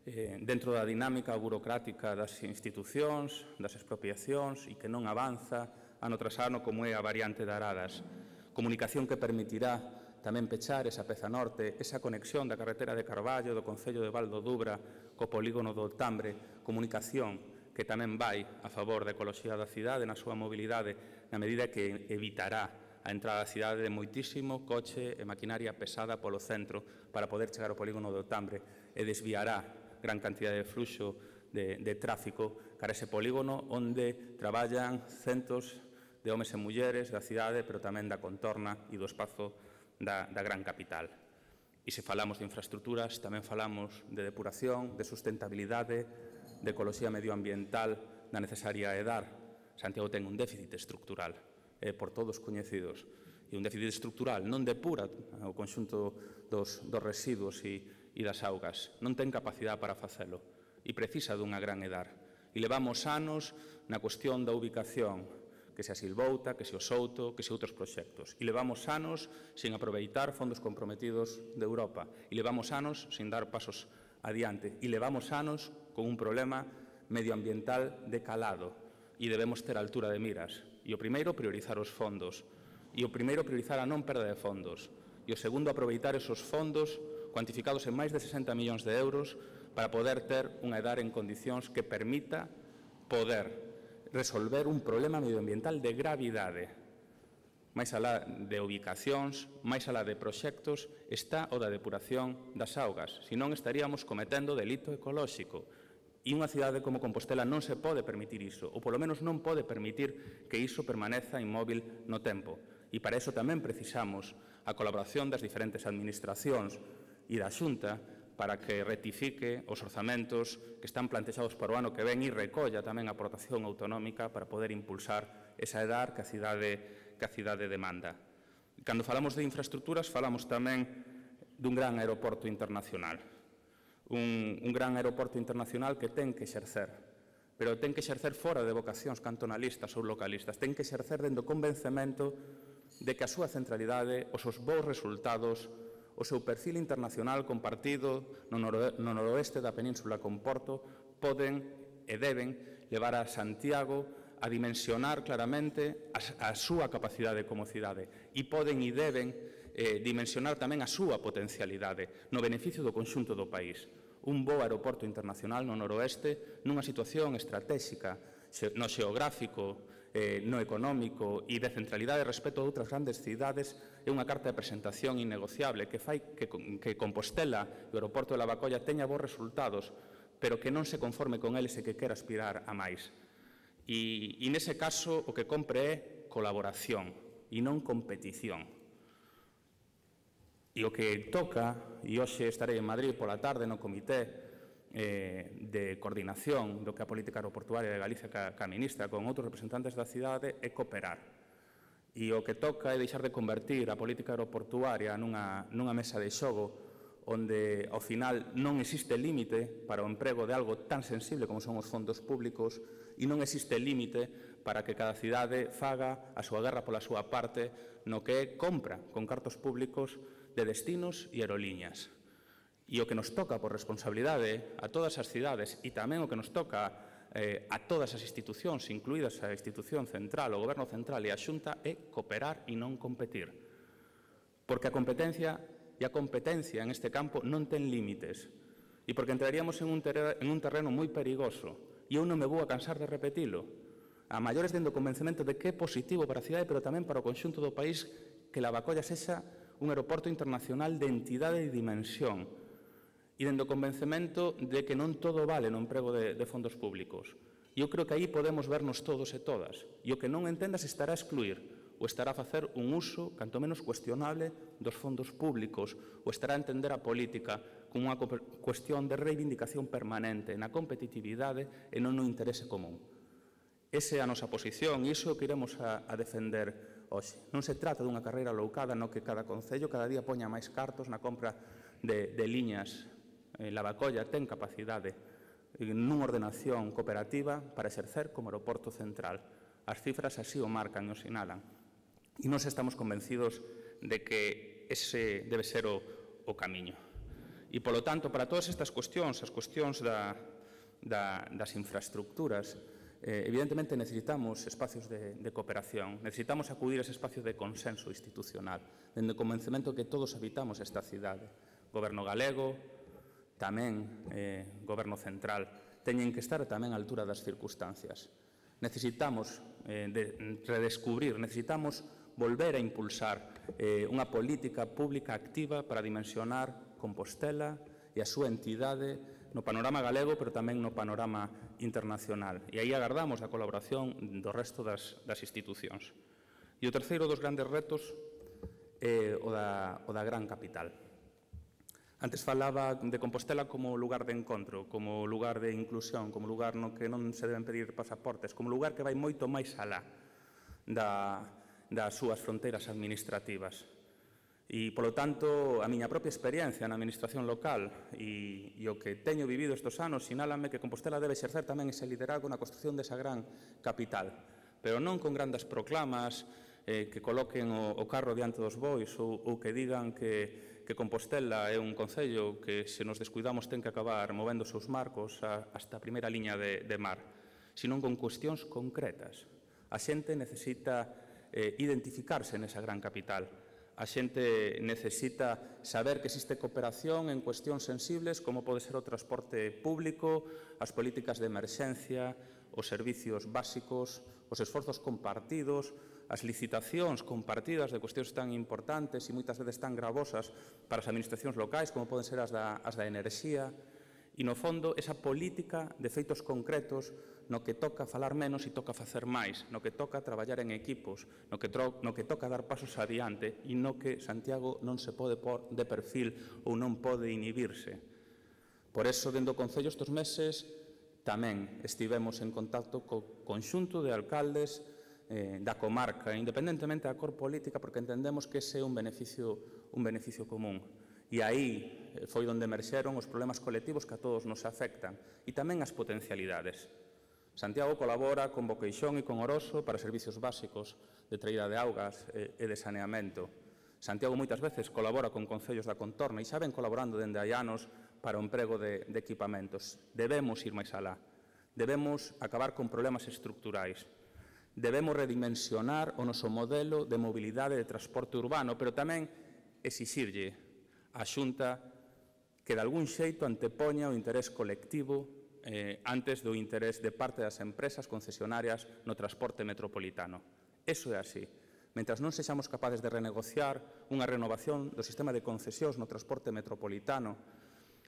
eh, dentro da dinámica burocrática das institucións, das expropiacións e que non avanza ano tras ano como é a variante de Aradas. Comunicación que permitirá tamén pechar esa peza norte, esa conexión da carretera de Carballo, do Concello de Val do Dubra, co polígono do Tambre, comunicación que tamén vai a favor da ecoloxía da cidade, na súa mobilidade, na medida que evitará a entrada da cidade de moitísimo coche e maquinaria pesada polo centro para poder chegar ao polígono do Tambre e desviará gran cantidad de fluxo de, de tráfico cara ese polígono onde traballan centos de homes e mulleres da cidade, pero tamén da contorna e do espazo Da, da gran capital. E se falamos de infraestructuras, tamén falamos de depuración, de sustentabilidade, de ecoloxía medioambiental da necesaria edar. Santiago ten un déficit estructural, eh, por todos coñecidos. E un déficit estructural non depura o conxunto dos, dos residuos e, e das augas. Non ten capacidade para facelo e precisa dunha gran edar. E levamos anos na cuestión da ubicación, que se a Silvouta, que se o Souto, que se outros proxectos. E levamos anos sin aproveitar fondos comprometidos de Europa. E levamos anos sin dar pasos adiante. E levamos anos con un problema medioambiental de calado. E debemos ter altura de miras. E o primeiro, priorizar os fondos. E o primeiro, priorizar a non perda de fondos. E o segundo, aproveitar esos fondos cuantificados en máis de sesenta millóns de euros para poder ter unha edar en condicións que permita poder resolver un problema medioambiental de gravidade. Máis alá de ubicacións, máis alá de proxectos, está o da depuración das augas. Senón estaríamos cometendo delito ecolóxico. E unha cidade como Compostela non se pode permitir iso, ou polo menos non pode permitir que iso permaneza inmóvil no tempo. E para iso tamén precisamos a colaboración das diferentes administracións e da Xunta para que rectifique os orzamentos que están plantexados para o ano que ven e recolla tamén a aportación autonómica para poder impulsar esa edar que a cidade, que a cidade demanda. Cando falamos de infraestructuras, falamos tamén dun gran aeroporto internacional. Un, un gran aeroporto internacional que ten que exercer, pero ten que exercer fora de vocacións cantonalistas ou localistas, ten que exercer dentro do convencemento de que a súa centralidade, os seus bons resultados, o seu perfil internacional compartido no, noro, no noroeste da península con Porto poden e deben levar a Santiago a dimensionar claramente a, a súa capacidade como cidade e poden e deben eh, dimensionar tamén a súa potencialidade no beneficio do conxunto do país. Un bo aeroporto internacional no noroeste nunha situación estratégica no xeográfico, eh, no económico e de centralidade respecto a outras grandes cidades é unha carta de presentación innegociable que fai que, que Compostela e o aeroporto de Lavacolla teña bons resultados, pero que non se conforme con eles e que quera aspirar a máis. E, e nese caso o que compre é colaboración e non competición. E o que toca, e hoxe estarei en Madrid pola tarde no comité Eh, de coordinación do que a política aeroportuaria de Galicia ca, ca ministra con outros representantes da cidade é cooperar. E o que toca é deixar de convertir a política aeroportuaria nunha, nunha mesa de xogo onde, ao final, non existe límite para o emprego de algo tan sensible como son os fondos públicos e non existe límite para que cada cidade faga a súa guerra pola súa parte no que é compra con cartos públicos de destinos e aerolíneas. E o que nos toca por responsabilidade a todas as cidades e tamén o que nos toca eh, a todas as institucións, incluídas a institución central, o goberno central e a Xunta, é cooperar e non competir. Porque a competencia e a competencia en este campo non ten límites e porque entraríamos en un, en un terreno moi perigoso e eu non me vou a cansar de repetilo. A maiores dentro do convencemento de que é positivo para a cidade, pero tamén para o conxunto do país que Lavacolla sexa un aeroporto internacional de entidade e dimensión. E dentro do convencemento de que non todo vale no emprego de, de fondos públicos. E eu creo que aí podemos vernos todos e todas. E o que non entendas estará a excluir ou estará a facer un uso, canto menos cuestionable, dos fondos públicos ou estará a entender a política como unha cuestión de reivindicación permanente na competitividade e non no interese común. Esa é a nosa posición e iso é o que iremos a, a defender hoxe. Non se trata dunha carreira loucada no que cada concello cada día poña máis cartos na compra de, de liñas. Lavacolla ten capacidade nunha ordenación cooperativa para exercer como aeroporto central. As cifras así o marcan e o sinalan. E nós estamos convencidos de que ese debe ser o, o camiño. E, polo tanto, para todas estas cuestións, as cuestións da, da, das infraestructuras, eh, evidentemente necesitamos espacios de, de cooperación, necesitamos acudir a ese espacio de consenso institucional, dende o convencemento que todos habitamos esta cidade. Goberno galego, tamén eh, Goberno central, teñen que estar tamén á altura das circunstancias. Necesitamos eh, de redescubrir, necesitamos volver a impulsar eh, unha política pública activa para dimensionar Compostela e a súa entidade no panorama galego, pero tamén no panorama internacional. E aí agardamos a colaboración do resto das, das institucións. E o terceiro dos grandes retos é o da, o da gran capital. Antes falaba de Compostela como lugar de encontro, como lugar de inclusión, como lugar no que non se deben pedir pasaportes, como lugar que vai moito máis alá da, das súas fronteiras administrativas. E, polo tanto, a miña propia experiencia na administración local e, e o que teño vivido estes anos sinálame que Compostela debe exercer tamén ese liderazgo na construción desa gran capital, pero non con grandes proclamas eh, que coloquen o, o carro diante dos bois ou, ou que digan que que Compostela é un concello que, se nos descuidamos, ten que acabar movendo os seus marcos hasta a primeira liña de, de mar, senón con cuestións concretas. A xente necesita eh, identificarse nesa gran capital. A xente necesita saber que existe cooperación en cuestións sensibles como pode ser o transporte público, as políticas de emerxencia, os servicios básicos, os esforzos compartidos, as licitacións compartidas de cuestións tan importantes e moitas veces tan gravosas para as administracións locais como poden ser as da, as da enerxía, e, no fondo, esa política de feitos concretos no que toca falar menos e toca facer máis, no que toca traballar en equipos, no que, tro, no que toca dar pasos adiante e no que Santiago non se pode por de perfil ou non pode inhibirse. Por eso, dentro do Concello estes meses, tamén estivemos en contacto co conxunto de alcaldes eh, da comarca, independentemente da cor política, porque entendemos que ese é un beneficio, un beneficio común. E aí foi onde emerxeron os problemas colectivos que a todos nos afectan e tamén as potencialidades. Santiago colabora con Boqueixón e con Oroso para servicios básicos de traída de augas e de saneamento. Santiago moitas veces colabora con concellos da contorna e xa ven colaborando dende hai anos para o emprego de, de equipamentos. Debemos ir máis alá. Debemos acabar con problemas estructurais. Debemos redimensionar o noso modelo de mobilidade de transporte urbano, pero tamén exixirlle á Xunta que de algún xeito antepoña o interés colectivo eh, antes do interés de parte das empresas concesionarias no transporte metropolitano. Eso é así. Mentras non sexamos capaces de renegociar unha renovación do sistema de concesións no transporte metropolitano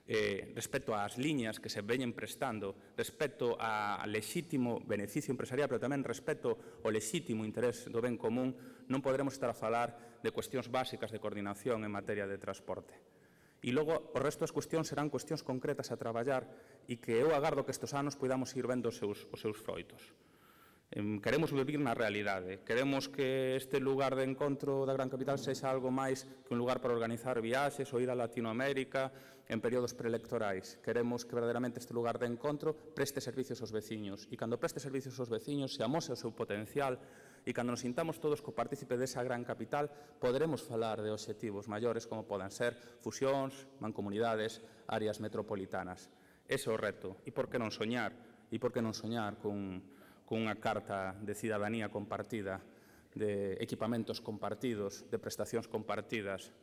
eh, respecto ás liñas que se veñen prestando, respecto ao lexítimo beneficio empresarial, pero tamén respecto ao lexítimo interés do ben común, non poderemos estar a falar de cuestións básicas de coordinación en materia de transporte. E logo, o resto das cuestións serán cuestións concretas a traballar e que eu agardo que estes anos podamos ir vendo os seus, os seus froitos. Queremos vivir na realidade, queremos que este lugar de encontro da gran capital sexa algo máis que un lugar para organizar viaxes ou ir a Latinoamérica en períodos preelectorais. Queremos que verdadeiramente este lugar de encontro preste servicios aos veciños e cando preste servicios aos veciños se amose o seu potencial e cando nos sintamos todos co partícipe desa gran capital poderemos falar de obxectivos maiores como poden ser fusións, mancomunidades, áreas metropolitanas. Ese é o reto. E por que non soñar? E por que non soñar con cunha carta de cidadanía compartida, de equipamentos compartidos, de prestacións compartidas,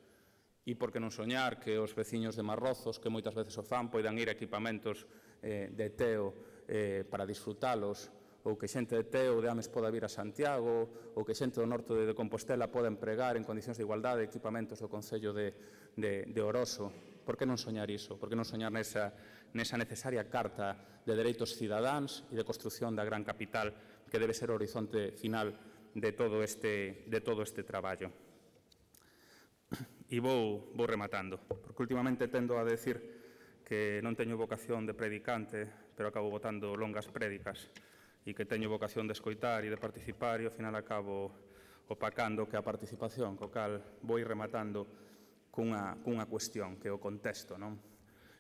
e por que non soñar que os veciños de Marrozos, que moitas veces o fan, poidan ir a equipamentos eh, de Teo eh, para disfrutalos, ou que xente de Teo ou de Ames poda vir a Santiago, ou que xente do norte de Compostela poda empregar en condicións de igualdade equipamentos do Concello de, de, de Oroso. Por que non soñar iso? Por que non soñar nesa, nesa necesaria carta de dereitos cidadáns e de construción da gran capital que debe ser o horizonte final de todo este, de todo este traballo? E vou, vou rematando, porque últimamente tendo a decir que non teño vocación de predicante, pero acabo botando longas prédicas, e que teño vocación de escoitar e de participar, e ao final acabo opacando que a participación, co cal vou ir rematando cunha, cunha cuestión, que é o contexto, non?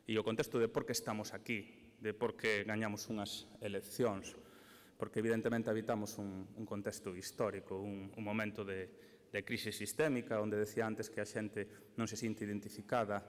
E o contexto de por que estamos aquí, de por que gañamos unhas eleccións, porque evidentemente habitamos un, un contexto histórico, un, un momento de, de crise sistémica, onde decía antes que a xente non se sinte identificada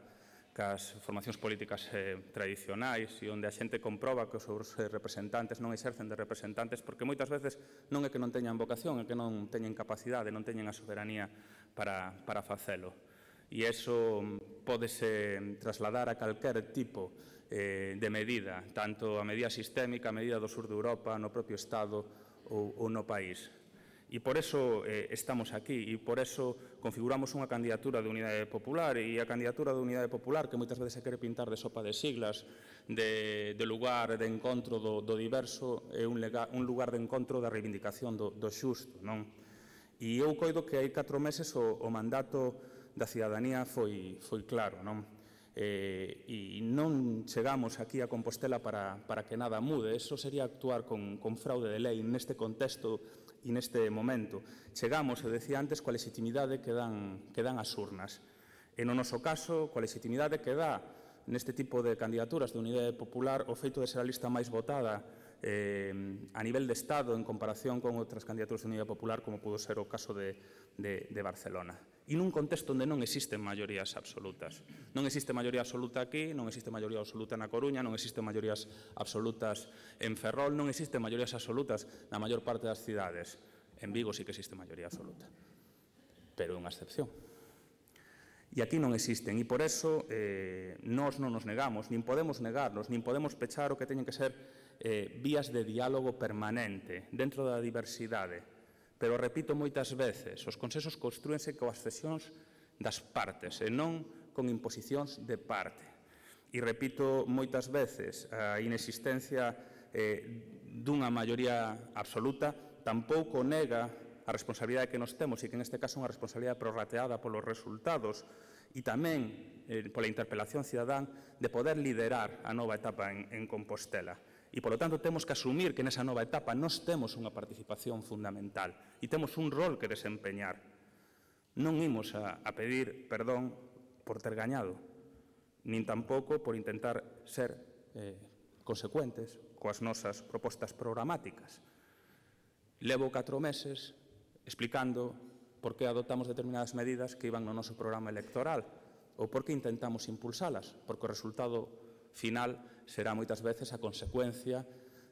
cas formacións políticas eh, tradicionais e onde a xente comproba que os seus representantes non exercen de representantes porque moitas veces non é que non teñan vocación, é que non teñen capacidade, non teñen a soberanía para, para facelo. E iso pódese trasladar a calquer tipo eh, de medida, tanto a medida sistémica, a medida do sur de Europa, no propio Estado ou, ou no país. E por eso eh, estamos aquí e por eso configuramos unha candidatura de Unidade Popular e a candidatura de Unidade Popular que moitas veces se quere pintar de sopa de siglas, de, de lugar de encontro do, do diverso, é un, lega, un lugar de encontro da reivindicación do, do xusto, non? E eu coido que hai catro meses o, o mandato da cidadanía foi, foi claro, non? Eh, e non chegamos aquí a Compostela para, para que nada mude. Eso sería actuar con, con fraude de lei neste contexto e neste momento. Chegamos, eu decía antes, coa legitimidade que dan, que dan as urnas. E no noso caso, coa legitimidade que dá neste tipo de candidaturas de Unidade Popular o feito de ser a lista máis votada eh, a nivel de Estado en comparación con outras candidaturas de Unidade Popular, como pudo ser o caso de, de, de Barcelona. E nun contexto onde non existen maiorías absolutas. Non existe maioría absoluta aquí, non existe maioría absoluta na Coruña, non existen maiorías absolutas en Ferrol, non existen maiorías absolutas na maior parte das cidades. En Vigo sí que existe maioría absoluta, pero é unha excepción. E aquí non existen, e por eso eh, nós non nos negamos, nin podemos negarnos, nin podemos pechar o que teñen que ser eh, vías de diálogo permanente dentro da diversidade. Pero, repito moitas veces, os consensos construense coas cesións das partes e non con imposicións de parte. E repito moitas veces, a inexistencia eh, dunha maioría absoluta tampouco nega a responsabilidade que nos temos e que neste caso é unha responsabilidade prorrateada polos resultados e tamén eh, pola interpelación cidadán de poder liderar a nova etapa en, en Compostela. E, polo tanto, temos que asumir que nesa nova etapa nós temos unha participación fundamental e temos un rol que desempeñar. Non imos a, a pedir perdón por ter gañado, nin tampouco por intentar ser eh, consecuentes coas nosas propostas programáticas. Levo catro meses explicando por que adoptamos determinadas medidas que iban no noso programa electoral ou por que intentamos impulsalas, porque o resultado final será moitas veces a consecuencia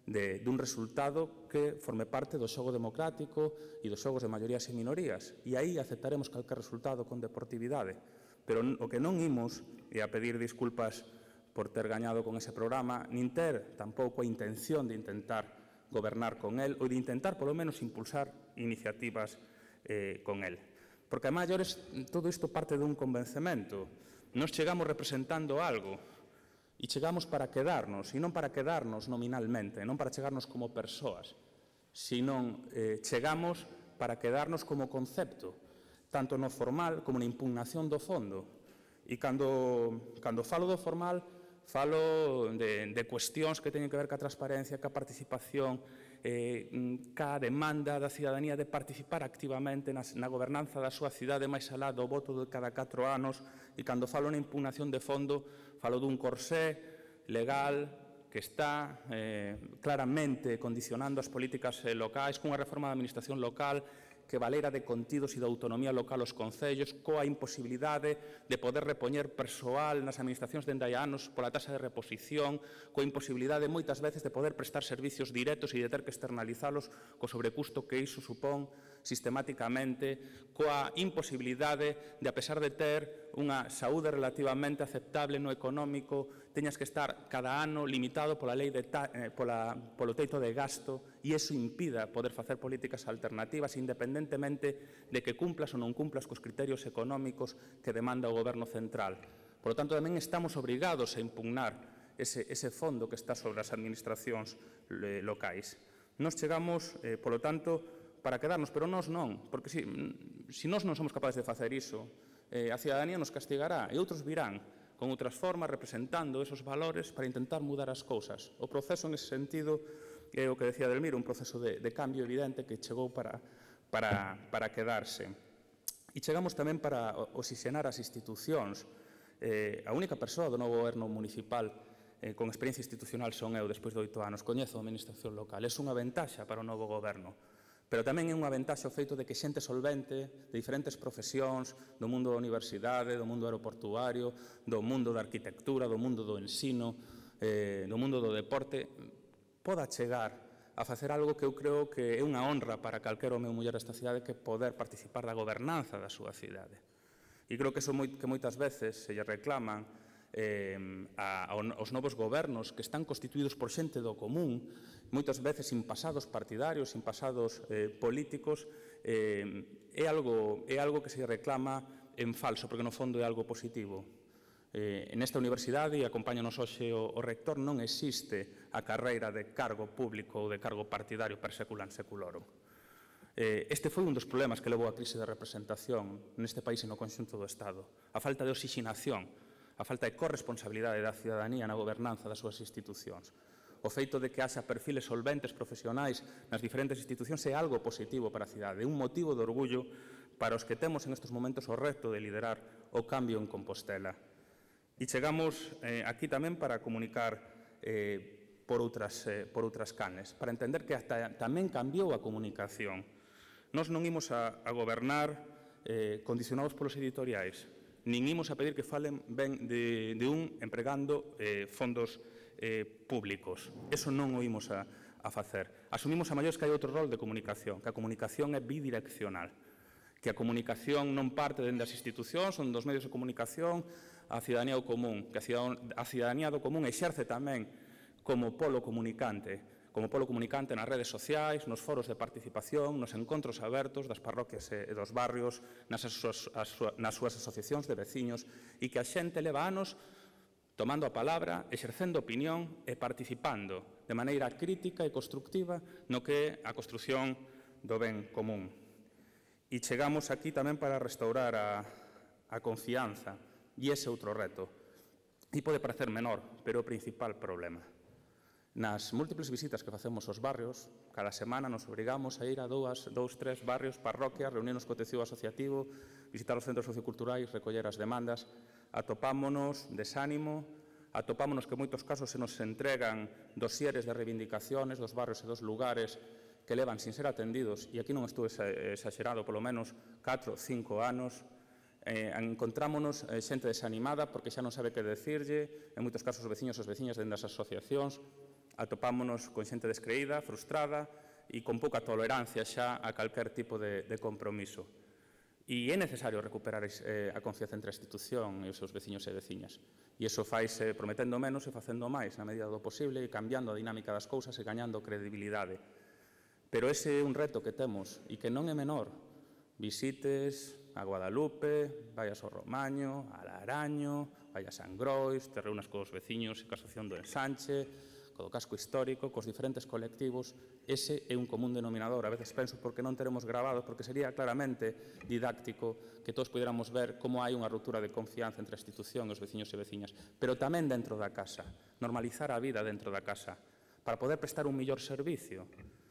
de, dun resultado que forme parte do xogo democrático e dos xogos de maiorías e minorías. E aí aceptaremos calquer resultado con deportividade. Pero o que non imos é a pedir disculpas por ter gañado con ese programa, nin ter tampouco a intención de intentar gobernar con el ou de intentar, polo menos, impulsar iniciativas eh, con el. Porque, a maiores, todo isto parte dun convencemento. Nos chegamos representando algo, e chegamos para quedarnos, e non para quedarnos nominalmente, non para chegarnos como persoas, senón eh, chegamos para quedarnos como concepto, tanto no formal como na impugnación do fondo. E cando, cando falo do formal, falo de, de cuestións que teñen que ver ca transparencia, ca participación, eh, ca demanda da cidadanía de participar activamente na, na gobernanza da súa cidade máis alá do voto de cada catro anos. E cando falo na impugnación de fondo, falo dun corsé legal que está eh, claramente condicionando as políticas eh, locais, cunha reforma da administración local que valera de contidos e de autonomía local aos concellos, coa imposibilidade de poder repoñer persoal nas administracións dende hai anos pola tasa de reposición, coa imposibilidade moitas veces de poder prestar servicios directos e de ter que externalizalos co sobrecusto que iso supón sistemáticamente, coa imposibilidade de, a pesar de ter unha saúde relativamente aceptable no económico, teñas que estar cada ano limitado pola lei de ta, eh, pola, polo teito de gasto e iso impida poder facer políticas alternativas independentemente de que cumplas ou non cumplas cos criterios económicos que demanda o Goberno central. Por lo tanto, tamén estamos obrigados a impugnar ese, ese fondo que está sobre as administracións eh, locais. Nos chegamos, eh, polo tanto, para quedarnos, pero nós non, porque se si, si nós non somos capaces de facer iso, eh, a cidadanía nos castigará e outros virán con outras formas, representando esos valores para intentar mudar as cousas. O proceso, nese sentido, é o que decía Delmiro, un proceso de, de cambio evidente que chegou para, para, para quedarse. E chegamos tamén para oxigenar as institucións. Eh, a única persoa do novo goberno municipal eh, con experiencia institucional son eu, despois de oito anos. Coñezo a administración local. É unha ventaxa para o novo goberno. Pero tamén é unha ventaxa o feito de que xente solvente de diferentes profesións, do mundo da universidade, do mundo aeroportuario, do mundo da arquitectura, do mundo do ensino, eh, do mundo do deporte, poda chegar a facer algo que eu creo que é unha honra para calquera home ou muller desta cidade, que poder participar da gobernanza da súa cidade. E creo que eso moi, que moitas veces se lle reclaman eh, a, aos novos gobernos que están constituídos por xente do común, moitas veces sin pasados partidarios, sin pasados eh, políticos, eh, é, algo, é algo que se reclama en falso, porque no fondo é algo positivo. Eh, nesta universidade, e acompáñanos hoxe o, o rector, non existe a carreira de cargo público ou de cargo partidario per seculan seculorum. Eh, este foi un dos problemas que levou a crise de representación neste país e no conxunto do Estado. A falta de oxixinación, a falta de corresponsabilidade da cidadanía na gobernanza das súas institucións. O feito de que haxa perfiles solventes profesionais nas diferentes institucións é algo positivo para a cidade, é un motivo de orgullo para os que temos en estes momentos o reto de liderar o cambio en Compostela. E chegamos eh, aquí tamén para comunicar eh, por outras, eh, por outras canes, para entender que hasta tamén cambiou a comunicación. Nós non imos a, a gobernar eh, condicionados polos editoriais, nin imos a pedir que falen ben de, de un empregando eh, fondos eh, públicos. Eso non o imos a, a facer. Asumimos a maiores que hai outro rol de comunicación, que a comunicación é bidireccional, que a comunicación non parte dende as institucións, son dos medios de comunicación, a cidadanía do común, que a cidadanía do común exerce tamén como polo comunicante, como polo comunicante nas redes sociais, nos foros de participación, nos encontros abertos das parroquias e dos barrios, nas súas, nas súas asociacións de veciños, e que a xente leva anos tomando a palabra, exercendo opinión e participando de maneira crítica e constructiva no que é a construción do ben común. E chegamos aquí tamén para restaurar a, a confianza, e ese outro reto. E pode parecer menor, pero é o principal problema. Nas múltiples visitas que facemos aos barrios, cada semana nos obrigamos a ir a dous, dous, tres barrios, parroquias, reunirnos co tecido asociativo, visitar os centros socioculturais, recoller as demandas, atopámonos desánimo, atopámonos que en moitos casos se nos entregan dosieres de reivindicaciones dos barrios e dos lugares que levan sin ser atendidos, e aquí non estuve exagerado, polo menos catro, cinco anos. Eh, encontrámonos eh, xente desanimada porque xa non sabe que decirlle, en moitos casos os veciños e as veciñas dentro das asociacións, atopámonos con xente descreída, frustrada e con pouca tolerancia xa a calquer tipo de, de compromiso. E é necesario recuperar eh, a confianza entre a institución e os seus veciños e veciñas. E iso faise prometendo menos e facendo máis na medida do posible e cambiando a dinámica das cousas e gañando credibilidade. Pero ese é un reto que temos e que non é menor. Visites a Guadalupe, vayas ao Romaño, a Laraño, vayas a Angrois, te reúnas cos veciños e ca asociación do Ensanche, co do casco histórico, cos diferentes colectivos. Ese é un común denominador. A veces penso porque non teremos grabado, porque sería claramente didáctico que todos pudiéramos ver como hai unha ruptura de confianza entre a institución e os veciños e veciñas, pero tamén dentro da casa, normalizar a vida dentro da casa, para poder prestar un mellor servicio.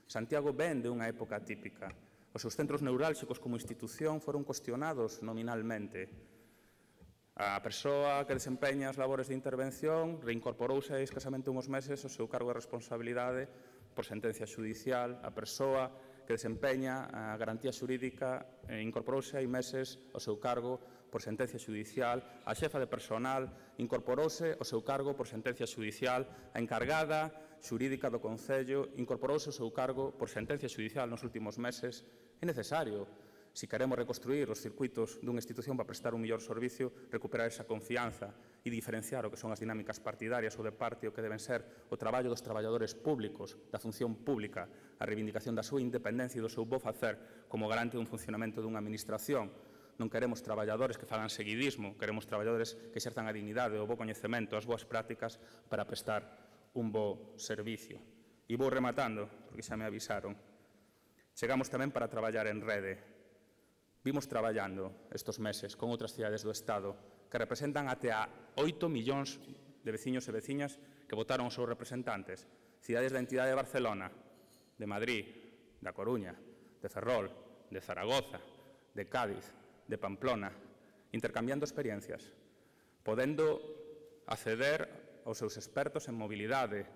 Santiago ven de unha época típica. Os seus centros neurálxicos como institución foron cuestionados nominalmente. A persoa que desempeña as labores de intervención reincorporouse a escasamente unhos meses ao seu cargo de responsabilidade por sentencia xudicial. A persoa que desempeña a garantía xurídica incorporouse hai meses ao seu cargo por sentencia xudicial. A xefa de personal incorporouse ao seu cargo por sentencia xudicial. A encargada xurídica do Concello incorporouse ao seu cargo por sentencia xudicial nos últimos meses. É necesario, se queremos reconstruir os circuitos dunha institución para prestar un mellor servicio, recuperar esa confianza e diferenciar o que son as dinámicas partidarias ou de parte o que deben ser o traballo dos traballadores públicos, da función pública, a reivindicación da súa independencia e do seu bo facer como garante dun funcionamento dunha administración. Non queremos traballadores que fagan seguidismo, queremos traballadores que exerzan a dignidade, o bo coñecemento, as boas prácticas para prestar un bo servicio. E vou rematando, porque xa me avisaron. Chegamos tamén para traballar en rede. Vimos traballando estes meses con outras cidades do Estado que representan até a oito millóns de veciños e veciñas que votaron os seus representantes. Cidades da entidade de Barcelona, de Madrid, da Coruña, de Ferrol, de Zaragoza, de Cádiz, de Pamplona, intercambiando experiencias, podendo acceder aos seus expertos en mobilidade,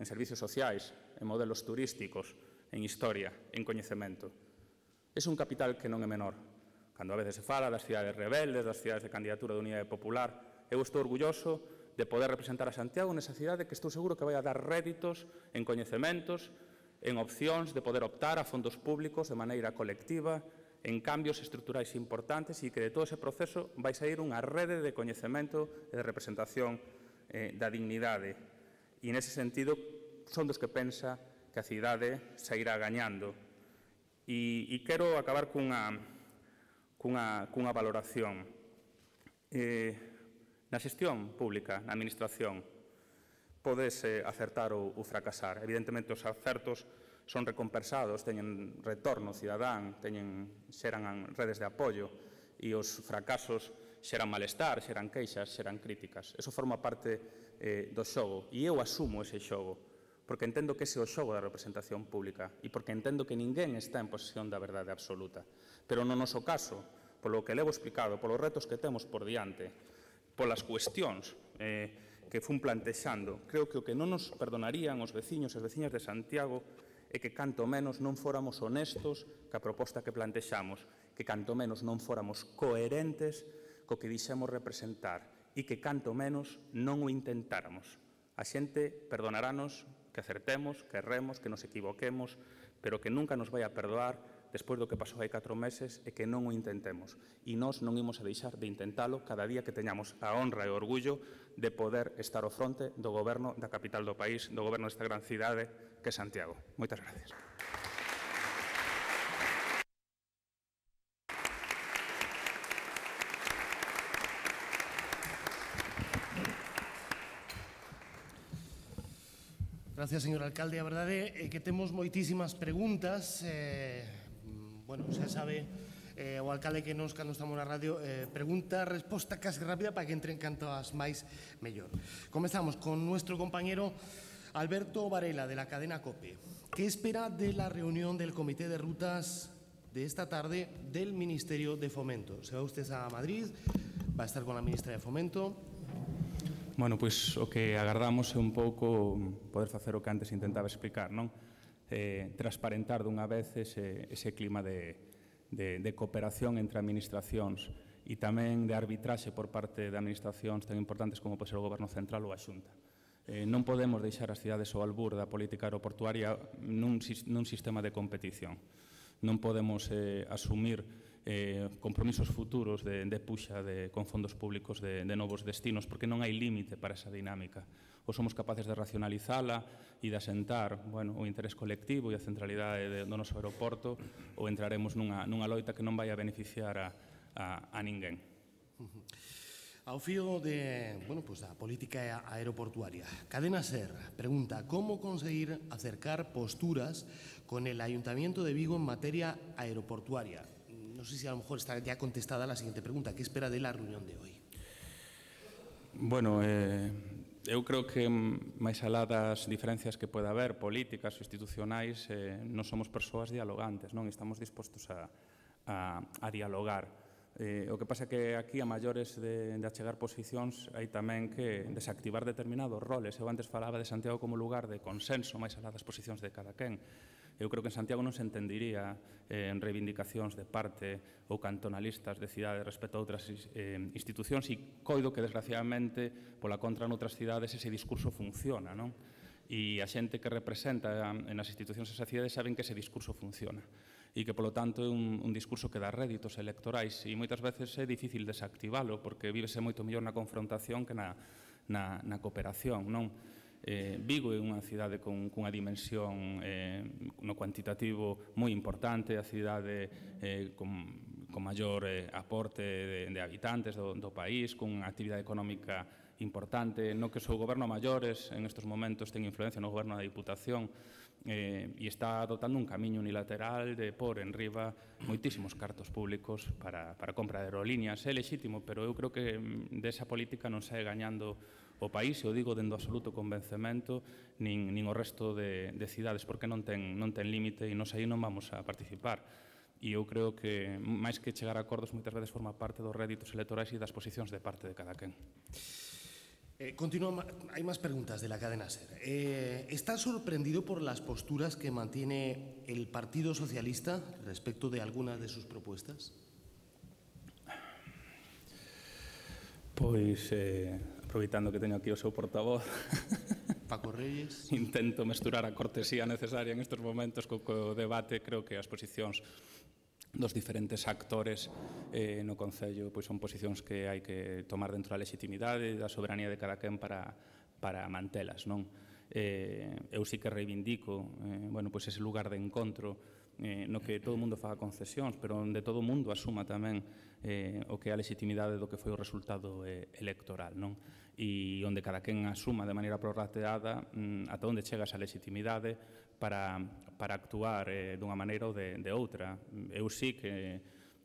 en servicios sociais, en modelos turísticos, en historia, en coñecemento. É un capital que non é menor. Cando a veces se fala das cidades rebeldes, das cidades de candidatura de unidade popular, eu estou orgulloso de poder representar a Santiago nesa cidade que estou seguro que vai a dar réditos en coñecementos, en opcións de poder optar a fondos públicos de maneira colectiva, en cambios estruturais importantes e que de todo ese proceso vai sair unha rede de coñecemento e de representación eh, da dignidade. E nese sentido son dos que pensa que a cidade sairá gañando. E, e quero acabar cunha, cunha, cunha valoración. Eh, na xestión pública, na administración, podese acertar ou, ou fracasar. Evidentemente, os acertos son recompensados, teñen retorno cidadán, teñen, xeran redes de apoio, e os fracasos xeran malestar, xeran queixas, xeran críticas. Eso forma parte eh, do xogo, e eu asumo ese xogo, porque entendo que ese é o xogo da representación pública e porque entendo que ninguén está en posesión da verdade absoluta. Pero no noso caso, polo que levo explicado, polos retos que temos por diante, polas cuestións eh, que fun plantexando, creo que o que non nos perdonarían os veciños e as veciñas de Santiago é que canto menos non fóramos honestos ca proposta que plantexamos, que canto menos non fóramos coherentes co que dixemos representar e que canto menos non o intentáramos. A xente perdonarános que acertemos, que erremos, que nos equivoquemos, pero que nunca nos vai a perdoar despois do que pasou hai catro meses e que non o intentemos. E nós non imos a deixar de intentalo cada día que teñamos a honra e o orgullo de poder estar ao fronte do goberno da capital do país, do goberno desta gran cidade que é Santiago. Moitas gracias. Gracias, señor alcalde. A verdade é que temos moitísimas preguntas. Eh, bueno, xa sabe eh, o alcalde que nos, cando estamos na radio, eh, pregunta, resposta casi rápida para que entren canto as máis mellor. Comezamos con nuestro compañero Alberto Varela, de la cadena COPE. ¿Qué espera de la reunión del Comité de Rutas de esta tarde del Ministerio de Fomento? ¿Se va usted a Madrid? ¿Va a estar con la ministra de Fomento? Bueno, pois o que agardamos é un pouco poder facer o que antes intentaba explicar, non? Eh, transparentar dunha vez ese, ese clima de, de, de cooperación entre administracións e tamén de arbitraxe por parte de administracións tan importantes como pode ser o Goberno Central ou a Xunta. Eh, non podemos deixar as cidades ao albur da política aeroportuaria nun, nun sistema de competición. Non podemos eh, asumir eh, compromisos futuros de, de puxa de, con fondos públicos de, de novos destinos, porque non hai límite para esa dinámica. Ou somos capaces de racionalizala e de asentar bueno, o interés colectivo e a centralidade de, do noso aeroporto, ou entraremos nunha, nunha loita que non vai a beneficiar a, a, a ninguén. Ao fío de, bueno, pues, da política aeroportuaria, Cadena SER pregunta ¿cómo conseguir acercar posturas con el Ayuntamiento de Vigo en materia aeroportuaria? No sé si a lo mejor está ya contestada la siguiente pregunta. ¿Qué espera de la reunión de hoy? Bueno, eh, eu creo que máis alá das diferencias que pode haber políticas ou institucionais, eh, non somos persoas dialogantes, non estamos dispostos a, a, a dialogar. Eh, o que pasa é que aquí, a maiores de, de achegar posicións, hai tamén que desactivar determinados roles. Eu antes falaba de Santiago como lugar de consenso, máis alá das posicións de cada quen. Eu creo que en Santiago non se entendería eh, en reivindicacións de parte ou cantonalistas de cidades respecto a outras eh, institucións e coido que, desgraciadamente, pola contra noutras cidades ese discurso funciona, non? E a xente que representa en as institucións esa cidade saben que ese discurso funciona e que, polo tanto, é un, un discurso que dá réditos electorais e moitas veces é difícil desactivalo porque vívese moito mellor na confrontación que na, na, na cooperación, non? Eh, Vigo é unha cidade con, cunha dimensión eh, no cuantitativo moi importante, a cidade eh, con, con maior eh, aporte de, de habitantes do, do país, con unha actividade económica importante, no que o seu goberno maiores en estes momentos ten influencia no goberno da Diputación eh, e está adoptando un camiño unilateral de pôr en riba moitísimos cartos públicos para, para compra de aerolíneas. É lexítimo, pero eu creo que desa política non sae gañando o país, e o digo dendo absoluto convencemento, nin, nin o resto de, de cidades, porque non ten, non ten límite e nos aí non vamos a participar. E eu creo que, máis que chegar a acordos, moitas veces forma parte dos réditos electorais e das posicións de parte de cada quen. Eh, continúa, hay más preguntas de la cadena SER. Eh, ¿Está sorprendido por las posturas que mantiene el Partido Socialista respecto de algunas de sus propuestas? Pois, eh, aproveitando que teño aquí o seu portavoz, Paco Reyes. Intento mesturar a cortesía necesaria en estes momentos co, co debate. Creo que as posicións dos diferentes actores eh, no Concello pois son posicións que hai que tomar dentro da legitimidade e da soberanía de cada quen para, para mantelas, non? Eh, eu sí que reivindico eh, bueno, pois ese lugar de encontro eh, no que todo o mundo faga concesións, pero onde todo o mundo asuma tamén eh, o que é a legitimidade do que foi o resultado eh, electoral, non? E onde cada quen asuma de maneira prorrateada mm, ata onde chega esa legitimidade para, para actuar eh, dunha maneira ou de, de outra. Eu sí que,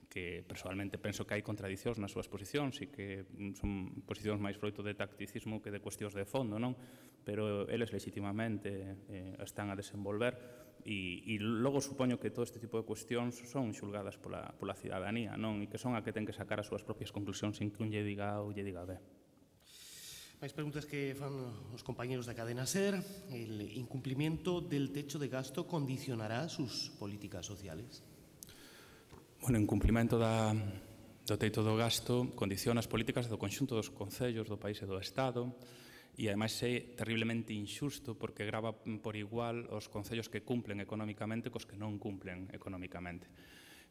que personalmente penso que hai contradicións nas súas posicións e que son posicións máis froito de tacticismo que de cuestións de fondo, non? Pero eles legitimamente eh, están a desenvolver e, e logo supoño que todo este tipo de cuestións son xulgadas pola, pola cidadanía, non? E que son a que ten que sacar as súas propias conclusións sin que un lle diga A ou lle diga B. Máis preguntas que fan os compañeros da cadena SER. El incumplimiento del techo de gasto condicionará sus políticas sociales? Bueno, en cumplimento da, do teito do gasto condiciona as políticas do conxunto dos concellos do país e do Estado e, ademais, é terriblemente injusto porque grava por igual os concellos que cumplen económicamente cos que non cumplen económicamente.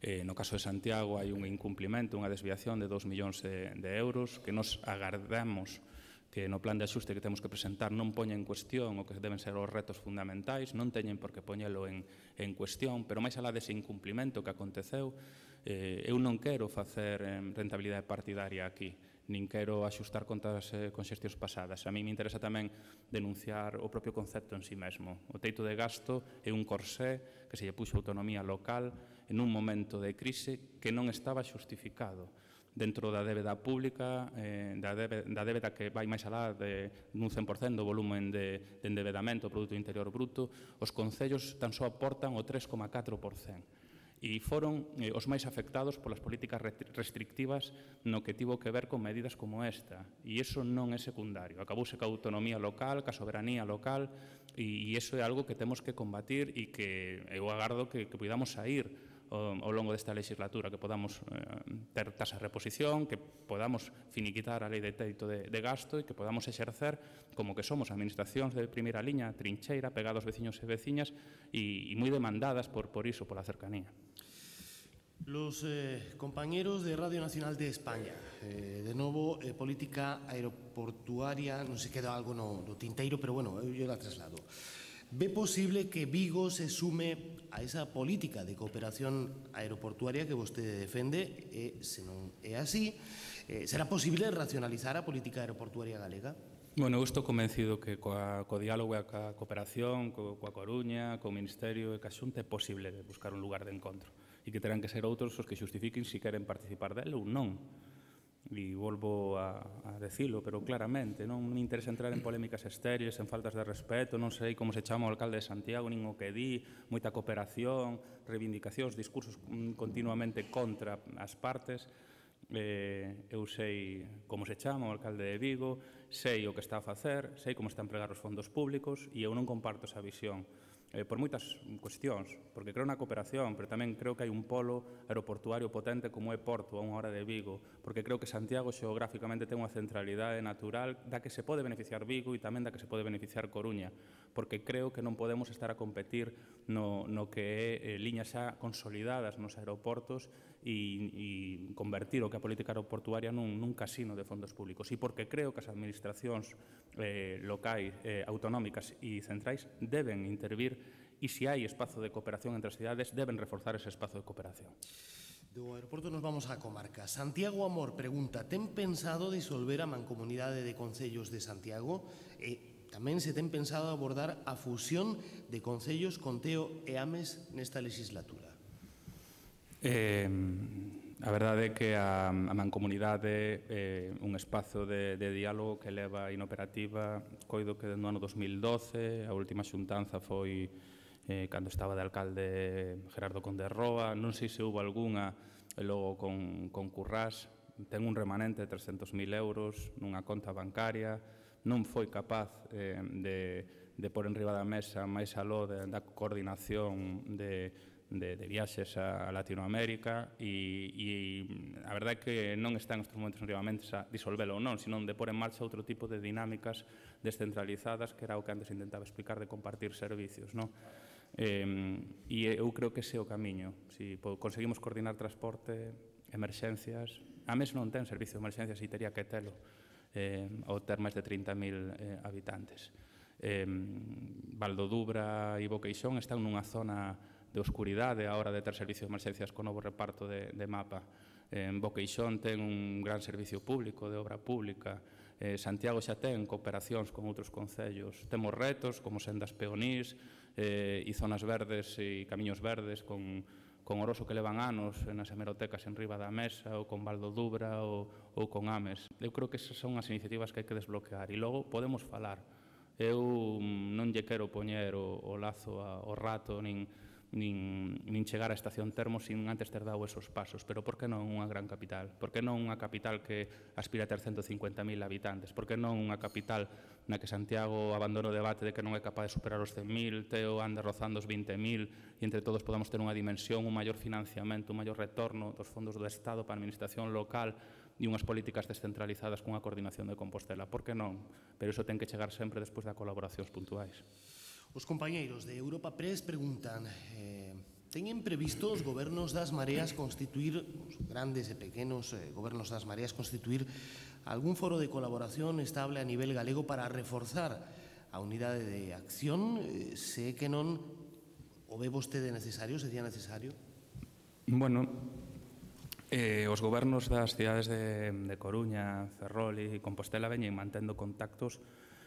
Eh, no caso de Santiago hai un incumplimento, unha desviación de dos millóns de, de euros que nos agardamos que no plan de axuste que temos que presentar non poña en cuestión o que deben ser os retos fundamentais, non teñen por que poñelo en, en cuestión, pero máis alá dese incumplimento que aconteceu, eh, eu non quero facer eh, rentabilidade partidaria aquí, nin quero axustar contas eh, con xestións pasadas. A mí me interesa tamén denunciar o propio concepto en sí mesmo. O teito de gasto é un corsé que se lle puxo autonomía local en un momento de crise que non estaba xustificado dentro da débeda pública, eh, da, débeda, da débeda que vai máis alá de un cen por cento do volumen de, de endebedamento do Produto Interior Bruto, os concellos tan só aportan o tres coma catro por cento. E foron eh, os máis afectados polas políticas restrictivas no que tivo que ver con medidas como esta. E iso non é secundario. Acabouse ca autonomía local, ca soberanía local, e, e iso é algo que temos que combatir e que eu agardo que, que podamos sair ao longo desta legislatura, que podamos eh, ter tasa de reposición, que podamos finiquitar a lei de teito de, de gasto e que podamos exercer como que somos administracións de primeira liña, trincheira, pegados veciños e veciñas e, e moi demandadas por, por iso, pola cercanía. Los eh, compañeros de Radio Nacional de España, eh, de novo, eh, política aeroportuaria, non se queda algo no, no tinteiro, pero bueno, eu la traslado. ¿Ve posible que Vigo se sume a esa política de cooperación aeroportuaria que vostede defende? E, se non é así, eh, será posible racionalizar a política aeroportuaria galega? Bueno, eu estou convencido que coa, co diálogo e a cooperación, co, coa Coruña, co Ministerio e ca Xunta é posible buscar un lugar de encontro e que terán que ser outros os que xustifiquen se queren participar dele ou non. E volvo a, a decilo, pero claramente, non me interesa entrar en polémicas estéreis, en faltas de respeto, non sei como se chama o alcalde de Santiago, nin o que di, moita cooperación, reivindicacións, discursos continuamente contra as partes. Eh, eu sei como se chama o alcalde de Vigo, sei o que está a facer, sei como está a empregar os fondos públicos e eu non comparto esa visión. Eh, por moitas cuestións, porque creo na cooperación, pero tamén creo que hai un polo aeroportuario potente como é Porto, a unha hora de Vigo, porque creo que Santiago xeográficamente ten unha centralidade natural da que se pode beneficiar Vigo e tamén da que se pode beneficiar Coruña, porque creo que non podemos estar a competir no, no que é eh, liñas xa consolidadas nos aeroportos e, e convertir o que a política aeroportuaria nun, nun casino de fondos públicos. E porque creo que as administracións eh, locais, eh, autonómicas e centrais deben intervir e se hai espazo de cooperación entre as cidades deben reforzar ese espazo de cooperación. Do aeroporto nos vamos á comarca. Santiago Amor pregunta: ten pensado disolver a mancomunidade de concellos de Santiago? E tamén se ten pensado abordar a fusión de concellos con Teo e Ames nesta legislatura? Eh, a verdade é que a, a mancomunidade é eh, un espazo de, de diálogo que leva inoperativa, coido que no ano dos mil doce, a última xuntanza foi eh, cando estaba de alcalde Gerardo Conde Roa, non sei se houve algunha, e logo con, con Currás, ten un remanente de trescentos mil euros nunha conta bancaria, non foi capaz eh, de, de pôr en riba da mesa máis aló de, da coordinación de, de, de viaxes a Latinoamérica e, e a verdade é que non están estes momentos en riba da mesa disolvelo ou non, senón de pôr en marcha outro tipo de dinámicas descentralizadas, que era o que antes intentaba explicar de compartir servicios, non? Eh, e eu creo que ese é o camiño. Si conseguimos coordinar transporte, emerxencias, a mes non ten servicio de emerxencias e tería que telo eh, ao ter máis de trinta mil eh, habitantes. Eh, Valdodubra e Boqueixón están nunha zona de oscuridade a hora de ter servicio de emerxencias co novo reparto de, de mapa. Eh, Boqueixón ten un gran servicio público de obra pública. Eh, Santiago xa ten cooperacións con outros concellos. Temos retos como sendas peonís, eh, e zonas verdes e camiños verdes con, con Oroso que levan anos nas hemerotecas en riba da mesa, ou con Valdo Dubra, ou, ou con Ames. Eu creo que esas son as iniciativas que hai que desbloquear. E logo podemos falar. Eu non lle quero poñer o, o lazo ao rato, nin, nin, nin chegar á estación termo sin antes ter dado esos pasos. Pero por que non unha gran capital? Por que non unha capital que aspira a ter ciento cincuenta mil habitantes? Por que non unha capital na que Santiago abandonou o debate de que non é capaz de superar os cen mil, Teo anda rozando os vinte mil, e entre todos podamos ter unha dimensión, un maior financiamento, un maior retorno dos fondos do Estado para a administración local e unhas políticas descentralizadas cunha coordinación de Compostela. Por que non? Pero iso ten que chegar sempre despois de colaboracións puntuais. Os compañeiros de Europa Press preguntan eh, teñen previsto os gobernos das mareas constituir, os grandes e pequenos eh, gobernos das mareas constituir algún foro de colaboración estable a nivel galego para reforzar a unidade de acción? Eh, se que non o ve vostede necesario, sería necesario? Bueno, Eh, os gobernos das cidades de, de Coruña, Ferrol e Compostela veñen mantendo contactos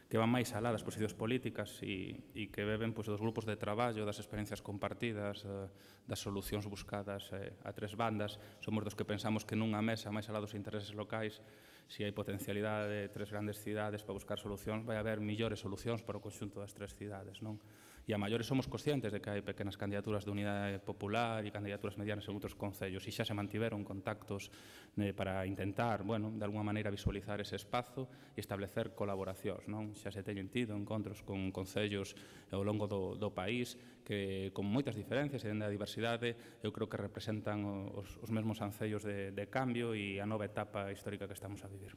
que van máis alá das posicións políticas e, e que beben pois, dos grupos de traballo, das experiencias compartidas, eh, das solucións buscadas eh, a tres bandas. Somos dos que pensamos que nunha mesa máis alá dos intereses locais, se hai potencialidade de tres grandes cidades para buscar solucións, vai haber millores solucións para o conxunto das tres cidades, non? E a maiores somos conscientes de que hai pequenas candidaturas de unidade popular e candidaturas medianas en outros concellos e xa se mantiveron contactos eh, para intentar, bueno, de alguma maneira visualizar ese espazo e establecer colaboracións, non? Xa se teñen tido encontros con concellos ao longo do, do país que con moitas diferencias e dende a diversidade eu creo que representan os, os mesmos ancellos de, de cambio e a nova etapa histórica que estamos a vivir.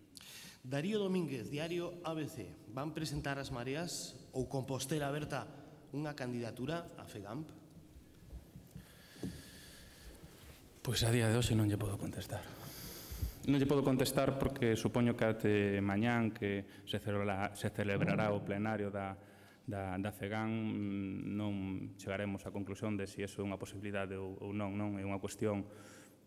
Darío Domínguez, Diario A B C. Van presentar as mareas ou Compostela Aberta unha candidatura a FEGAMP? Pois a día de hoxe non lle podo contestar. Non lle podo contestar porque supoño que até mañán que se celebrará, se celebrará o plenario da, da, da FEGAM non chegaremos á conclusión de se si iso é unha posibilidade ou, ou non, non. É unha cuestión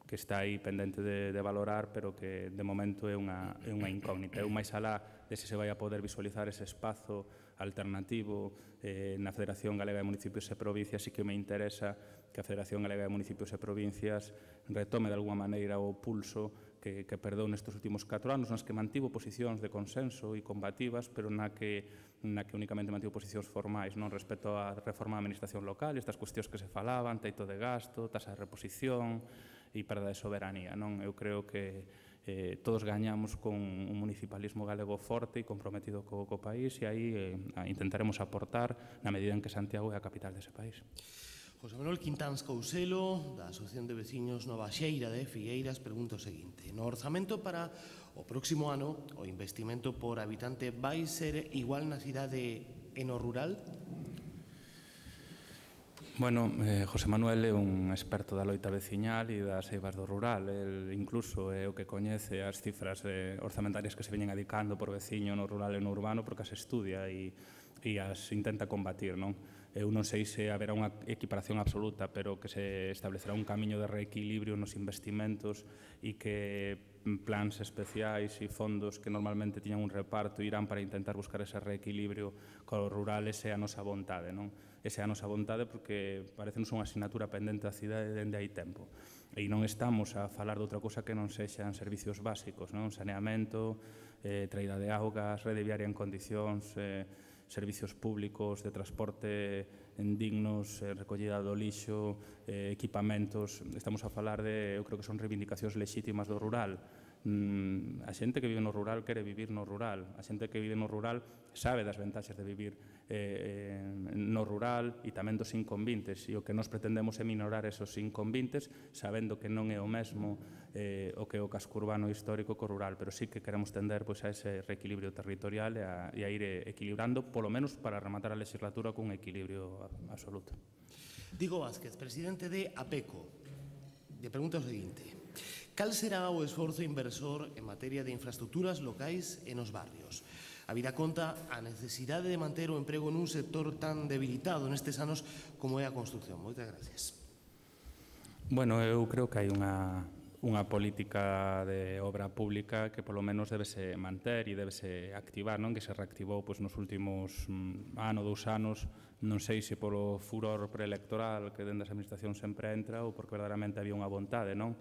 que está aí pendente de, de valorar, pero que de momento é unha, é unha incógnita. Eu máis alá de se se vai a poder visualizar ese espazo alternativo eh, na Federación Galega de Municipios e Provincias e que me interesa que a Federación Galega de Municipios e Provincias retome de alguma maneira o pulso que, que perdeu nestes últimos catro anos, nas que mantivo posicións de consenso e combativas, pero na que, na que únicamente mantivo posicións formais non respecto á reforma da administración local, estas cuestións que se falaban, teito de gasto, tasa de reposición e perda de soberanía. Non? Eu creo que Eh, todos gañamos con un municipalismo galego forte e comprometido co, co país e aí eh, intentaremos aportar na medida en que Santiago é a capital dese país. José Manuel Quintáns Couselo, da Asociación de Veciños Nova Xeira de Figueiras, pregunta o seguinte. No orzamento para o próximo ano, o investimento por habitante vai ser igual na cidade e no rural? Bueno, eh, José Manuel é un experto da loita veciñal e das eivas do rural. El incluso é o que coñece as cifras eh, orzamentarias que se veñen adicando por veciño no rural e no urbano porque as estudia e, e as intenta combatir, non? Eu non sei se haberá unha equiparación absoluta, pero que se establecerá un camiño de reequilibrio nos investimentos e que plans especiais e fondos que normalmente tiñan un reparto irán para intentar buscar ese reequilibrio co rural, ese é a nosa vontade, non? Esa é a nosa vontade porque parecenos unha asignatura pendente da cidade dende hai tempo. E non estamos a falar de outra cousa que non sexan servicios básicos, non? Saneamento, eh, traída de augas, rede viaria en condicións, eh, servicios públicos de transporte en dignos, eh, recollida do lixo, eh, equipamentos. Estamos a falar de, eu creo que son reivindicacións lexítimas do rural. Mm, a xente que vive no rural quere vivir no rural. A xente que vive no rural sabe das ventaxes de vivir eh, no rural e tamén dos inconvintes. E o que nos pretendemos é minorar esos inconvintes sabendo que non é o mesmo eh, o que o casco urbano histórico co rural, pero sí que queremos tender pois, a ese reequilibrio territorial e a, e a ir equilibrando, polo menos para rematar a legislatura cun equilibrio absoluto. Diego Vázquez, presidente de APECO, lle pregunta o seguinte. Cal será o esforzo inversor en materia de infraestructuras locais e nos barrios? Habida conta a necesidade de manter o emprego nun sector tan debilitado nestes anos como é a construcción. Moitas gracias. Bueno, eu creo que hai unha, unha política de obra pública que polo menos debese manter e debese activar, non? Que se reactivou pois, nos últimos mm, ano, dous anos non sei se polo furor preelectoral que dentro das administracións sempre entra ou porque verdadeiramente había unha vontade, non?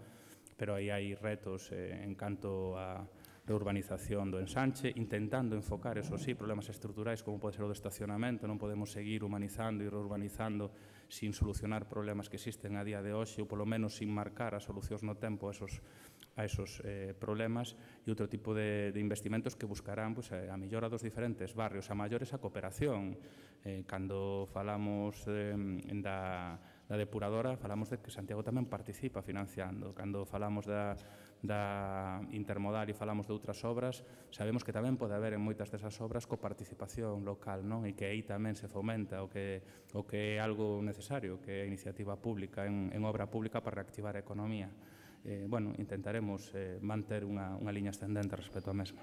Pero aí hai retos eh, en canto a reurbanización do ensanche, intentando enfocar, eso sí, problemas estruturais como pode ser o do estacionamento. Non podemos seguir humanizando e reurbanizando sin solucionar problemas que existen a día de hoxe ou polo menos sin marcar as solucións no tempo a esos, a esos eh, problemas, e outro tipo de, de investimentos que buscarán pues, a mellora dos diferentes barrios, a maiores a cooperación. Eh, cando falamos eh, da, da depuradora, falamos de que Santiago tamén participa financiando. Cando falamos da, da intermodal e falamos de outras obras, sabemos que tamén pode haber en moitas desas obras coparticipación local, non? E que aí tamén se fomenta o que, o que é algo necesario, que é a iniciativa pública en, en obra pública para reactivar a economía. Eh, bueno, intentaremos eh, manter unha, unha liña ascendente respecto á mesma.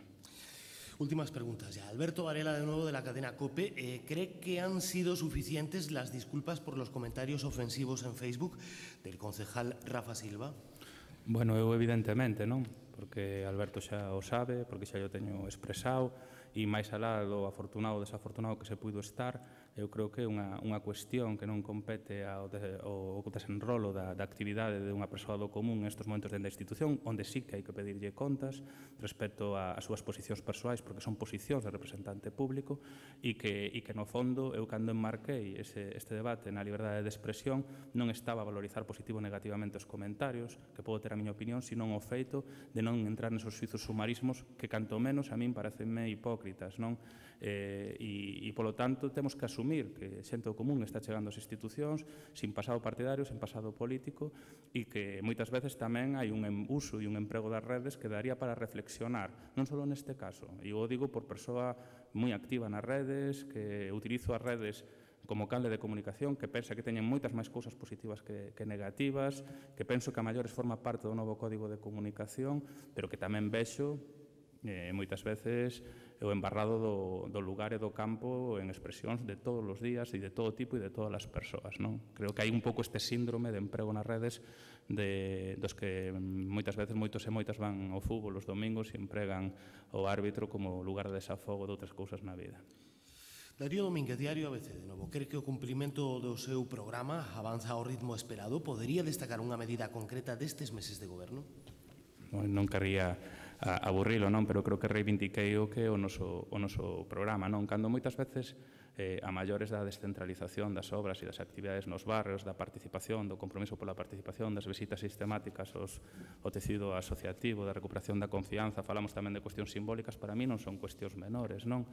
Últimas preguntas ya. Alberto Varela, de nuevo, de la cadena COPE. Eh, ¿Cree que han sido suficientes las disculpas por los comentarios ofensivos en Facebook del concejal Rafa Silva? Bueno, eu evidentemente, non? Porque Alberto xa o sabe, porque xa o teño expresado, e máis alá do afortunado ou desafortunado que se puido estar, eu creo que é unha, unha cuestión que non compete ao, de, ao desenrolo da, da actividade de unha persoa do común nestes momentos dentro da institución, onde sí que hai que pedirlle contas respecto ás súas posicións persoais, porque son posicións de representante público, e que, e que no fondo, eu cando enmarquei ese, este debate na liberdade de expresión, non estaba a valorizar positivo ou negativamente os comentarios, que podo ter a miña opinión, senón o feito de non entrar nesos suizos sumarismos que, canto menos, a min parecenme hipócritas, non? Eh, e, e, polo tanto, temos que asumir que xente do común está chegando ás institucións sin pasado partidario, sin pasado político, e que moitas veces tamén hai un uso e un emprego das redes que daría para reflexionar, non só neste caso. E eu o digo por persoa moi activa nas redes, que utilizo as redes como canle de comunicación, que pensa que teñen moitas máis cousas positivas que, que negativas, que penso que a maiores forma parte do novo código de comunicación, pero que tamén vexo eh, moitas veces o embarrado do, do lugar e do campo en expresións de todos os días e de todo tipo e de todas as persoas, non? Creo que hai un pouco este síndrome de emprego nas redes de, dos que moitas veces moitos e moitas van ao fútbol os domingos e empregan o árbitro como lugar de desafogo de outras cousas na vida. Darío Domínguez, Diario A B C, de novo. Cree que o cumprimento do seu programa avanza ao ritmo esperado? Podería destacar unha medida concreta destes meses de goberno? Non querría aburrilo, non? Pero creo que reivindiquei o que é o noso, o noso programa, non? Cando moitas veces eh, a maiores da descentralización das obras e das actividades nos barrios, da participación, do compromiso pola participación, das visitas sistemáticas aos, ao tecido asociativo, da recuperación da confianza, falamos tamén de cuestións simbólicas, para mí non son cuestións menores, non?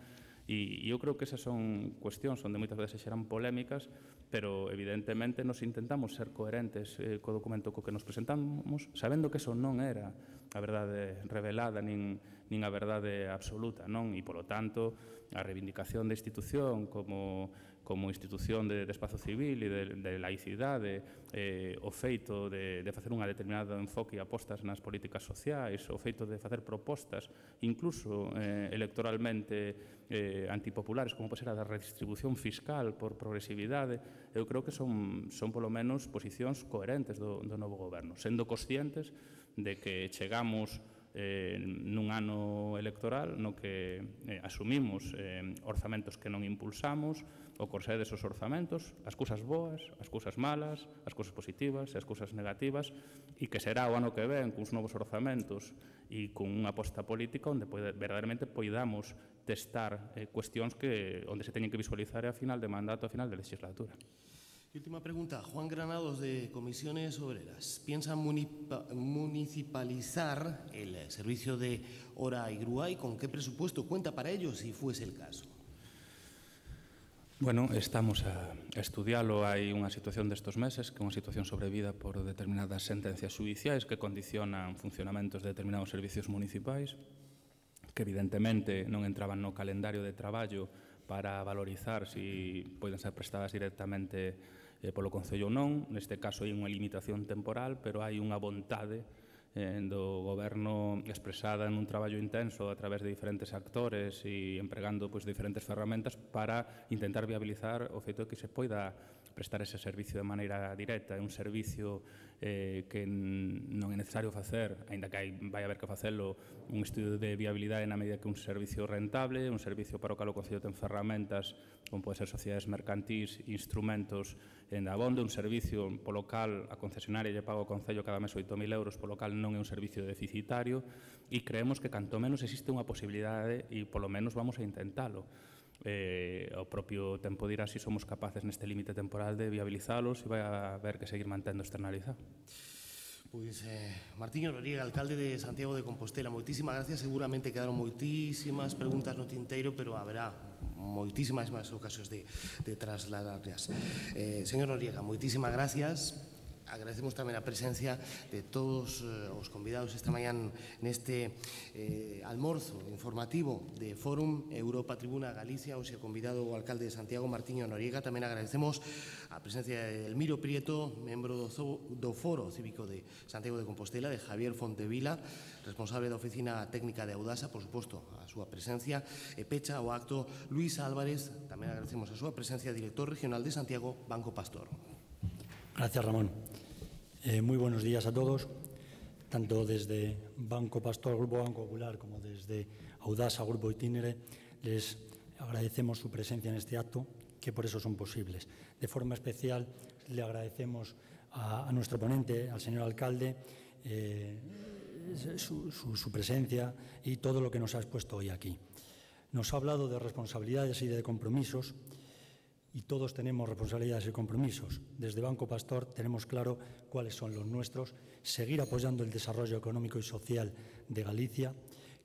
E eu creo que esas son cuestións onde moitas veces xeran polémicas, pero evidentemente nos intentamos ser coherentes eh, co documento co que nos presentamos, sabendo que eso non era a verdade revelada nin, nin a verdade absoluta, non? E, polo tanto, a reivindicación da institución como, como institución de, de espazo civil e de, de laicidade, eh, o feito de, de facer unha determinada enfoque e apostas nas políticas sociais, o feito de facer propostas, incluso eh, electoralmente eh, antipopulares, como pode ser a da redistribución fiscal por progresividade, eu creo que son, son polo menos posicións coherentes do, do novo goberno, sendo conscientes de que chegamos eh, nun ano electoral no que eh, asumimos eh, orzamentos que non impulsamos, o corsé desos orzamentos, as cousas boas, as cousas malas, as cousas positivas e as cousas negativas, e que será o ano que ven cuns novos orzamentos e con unha aposta política onde pode, verdadeiramente poidamos testar eh, cuestións que onde se teñen que visualizar a final de mandato, a final de legislatura. Y última pregunta, Juan Granados, de Comisiones Obreras. ¿Piensa municipalizar el servicio de hora y grúa y con qué presupuesto cuenta para ello, si fuese el caso? Bueno, estamos a estudialo. Hai unha situación destos meses que é unha situación sobrevida por determinadas sentencias judiciais que condicionan funcionamentos de determinados servicios municipais que evidentemente non entraban no calendario de traballo para valorizar se poden ser prestadas directamente eh, polo Concello ou non. Neste caso hai unha limitación temporal, pero hai unha vontade eh, do Goberno expresada en un traballo intenso a través de diferentes actores e empregando pois, diferentes ferramentas para intentar viabilizar o feito de que se poida prestar ese servicio de maneira directa. É un servicio eh, que non é necesario facer, aínda que hai, vai haber que facelo, un estudio de viabilidade na medida que un servicio rentable, un servicio para o cal o Concello ten ferramentas, como pode ser sociedades mercantís, instrumentos en abondo, un servicio polo cal a concesionaria lle paga ao Concello cada mes oito mil euros, polo cal non é un servicio deficitario, e creemos que canto menos existe unha posibilidade e polo menos vamos a intentalo. Eh, ao propio tempo dirá se si somos capaces neste límite temporal de viabilizalos e vai a haber que seguir mantendo externalizado. Pois, eh, Martiño Noriega, alcalde de Santiago de Compostela, moitísimas gracias. Seguramente quedaron moitísimas preguntas no tinteiro, pero haberá moitísimas máis ocasións de, de trasladarlas. Eh, señor Noriega, moitísimas gracias. Agradecemos tamén a presencia de todos eh, os convidados esta mañán neste eh, almorzo informativo de Fórum Europa Tribuna Galicia. Hoxe convidado o alcalde de Santiago, Martiño Noriega. Tamén agradecemos a presencia de Elmiro Prieto, membro do, do Foro Cívico de Santiago de Compostela, de Javier Fontevila, responsable da Oficina Técnica de Audasa, por suposto, a súa presencia, e pecha o acto Luís Álvarez. Tamén agradecemos a súa presencia, director regional de Santiago, Banco Pastor. Gracias, Ramón. Eh, muy buenos días a todos, tanto desde Banco Pastor, Grupo Banco Popular, como desde Audasa, Grupo Itinere. Les agradecemos su presencia en este acto, que por eso son posibles. De forma especial, le agradecemos a, a nuestro ponente, al señor alcalde, eh, su, su, su presencia y todo lo que nos ha expuesto hoy aquí. Nos ha hablado de responsabilidades y de compromisos, y todos tenemos responsabilidades y compromisos. Desde Banco Pastor tenemos claro cuáles son los nuestros, seguir apoyando el desarrollo económico y social de Galicia.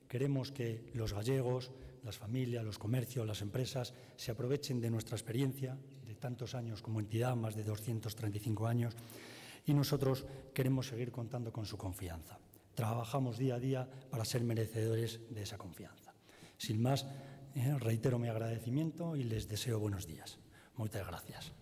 Queremos que los gallegos, las familias, los comercios, las empresas se aprovechen de nuestra experiencia de tantos años como entidad, más de doscientos treinta y cinco años, y nosotros queremos seguir contando con su confianza. Trabajamos día a día para ser merecedores de esa confianza. Sin más, eh, reitero mi agradecimiento y les deseo buenos días. Muchas gracias.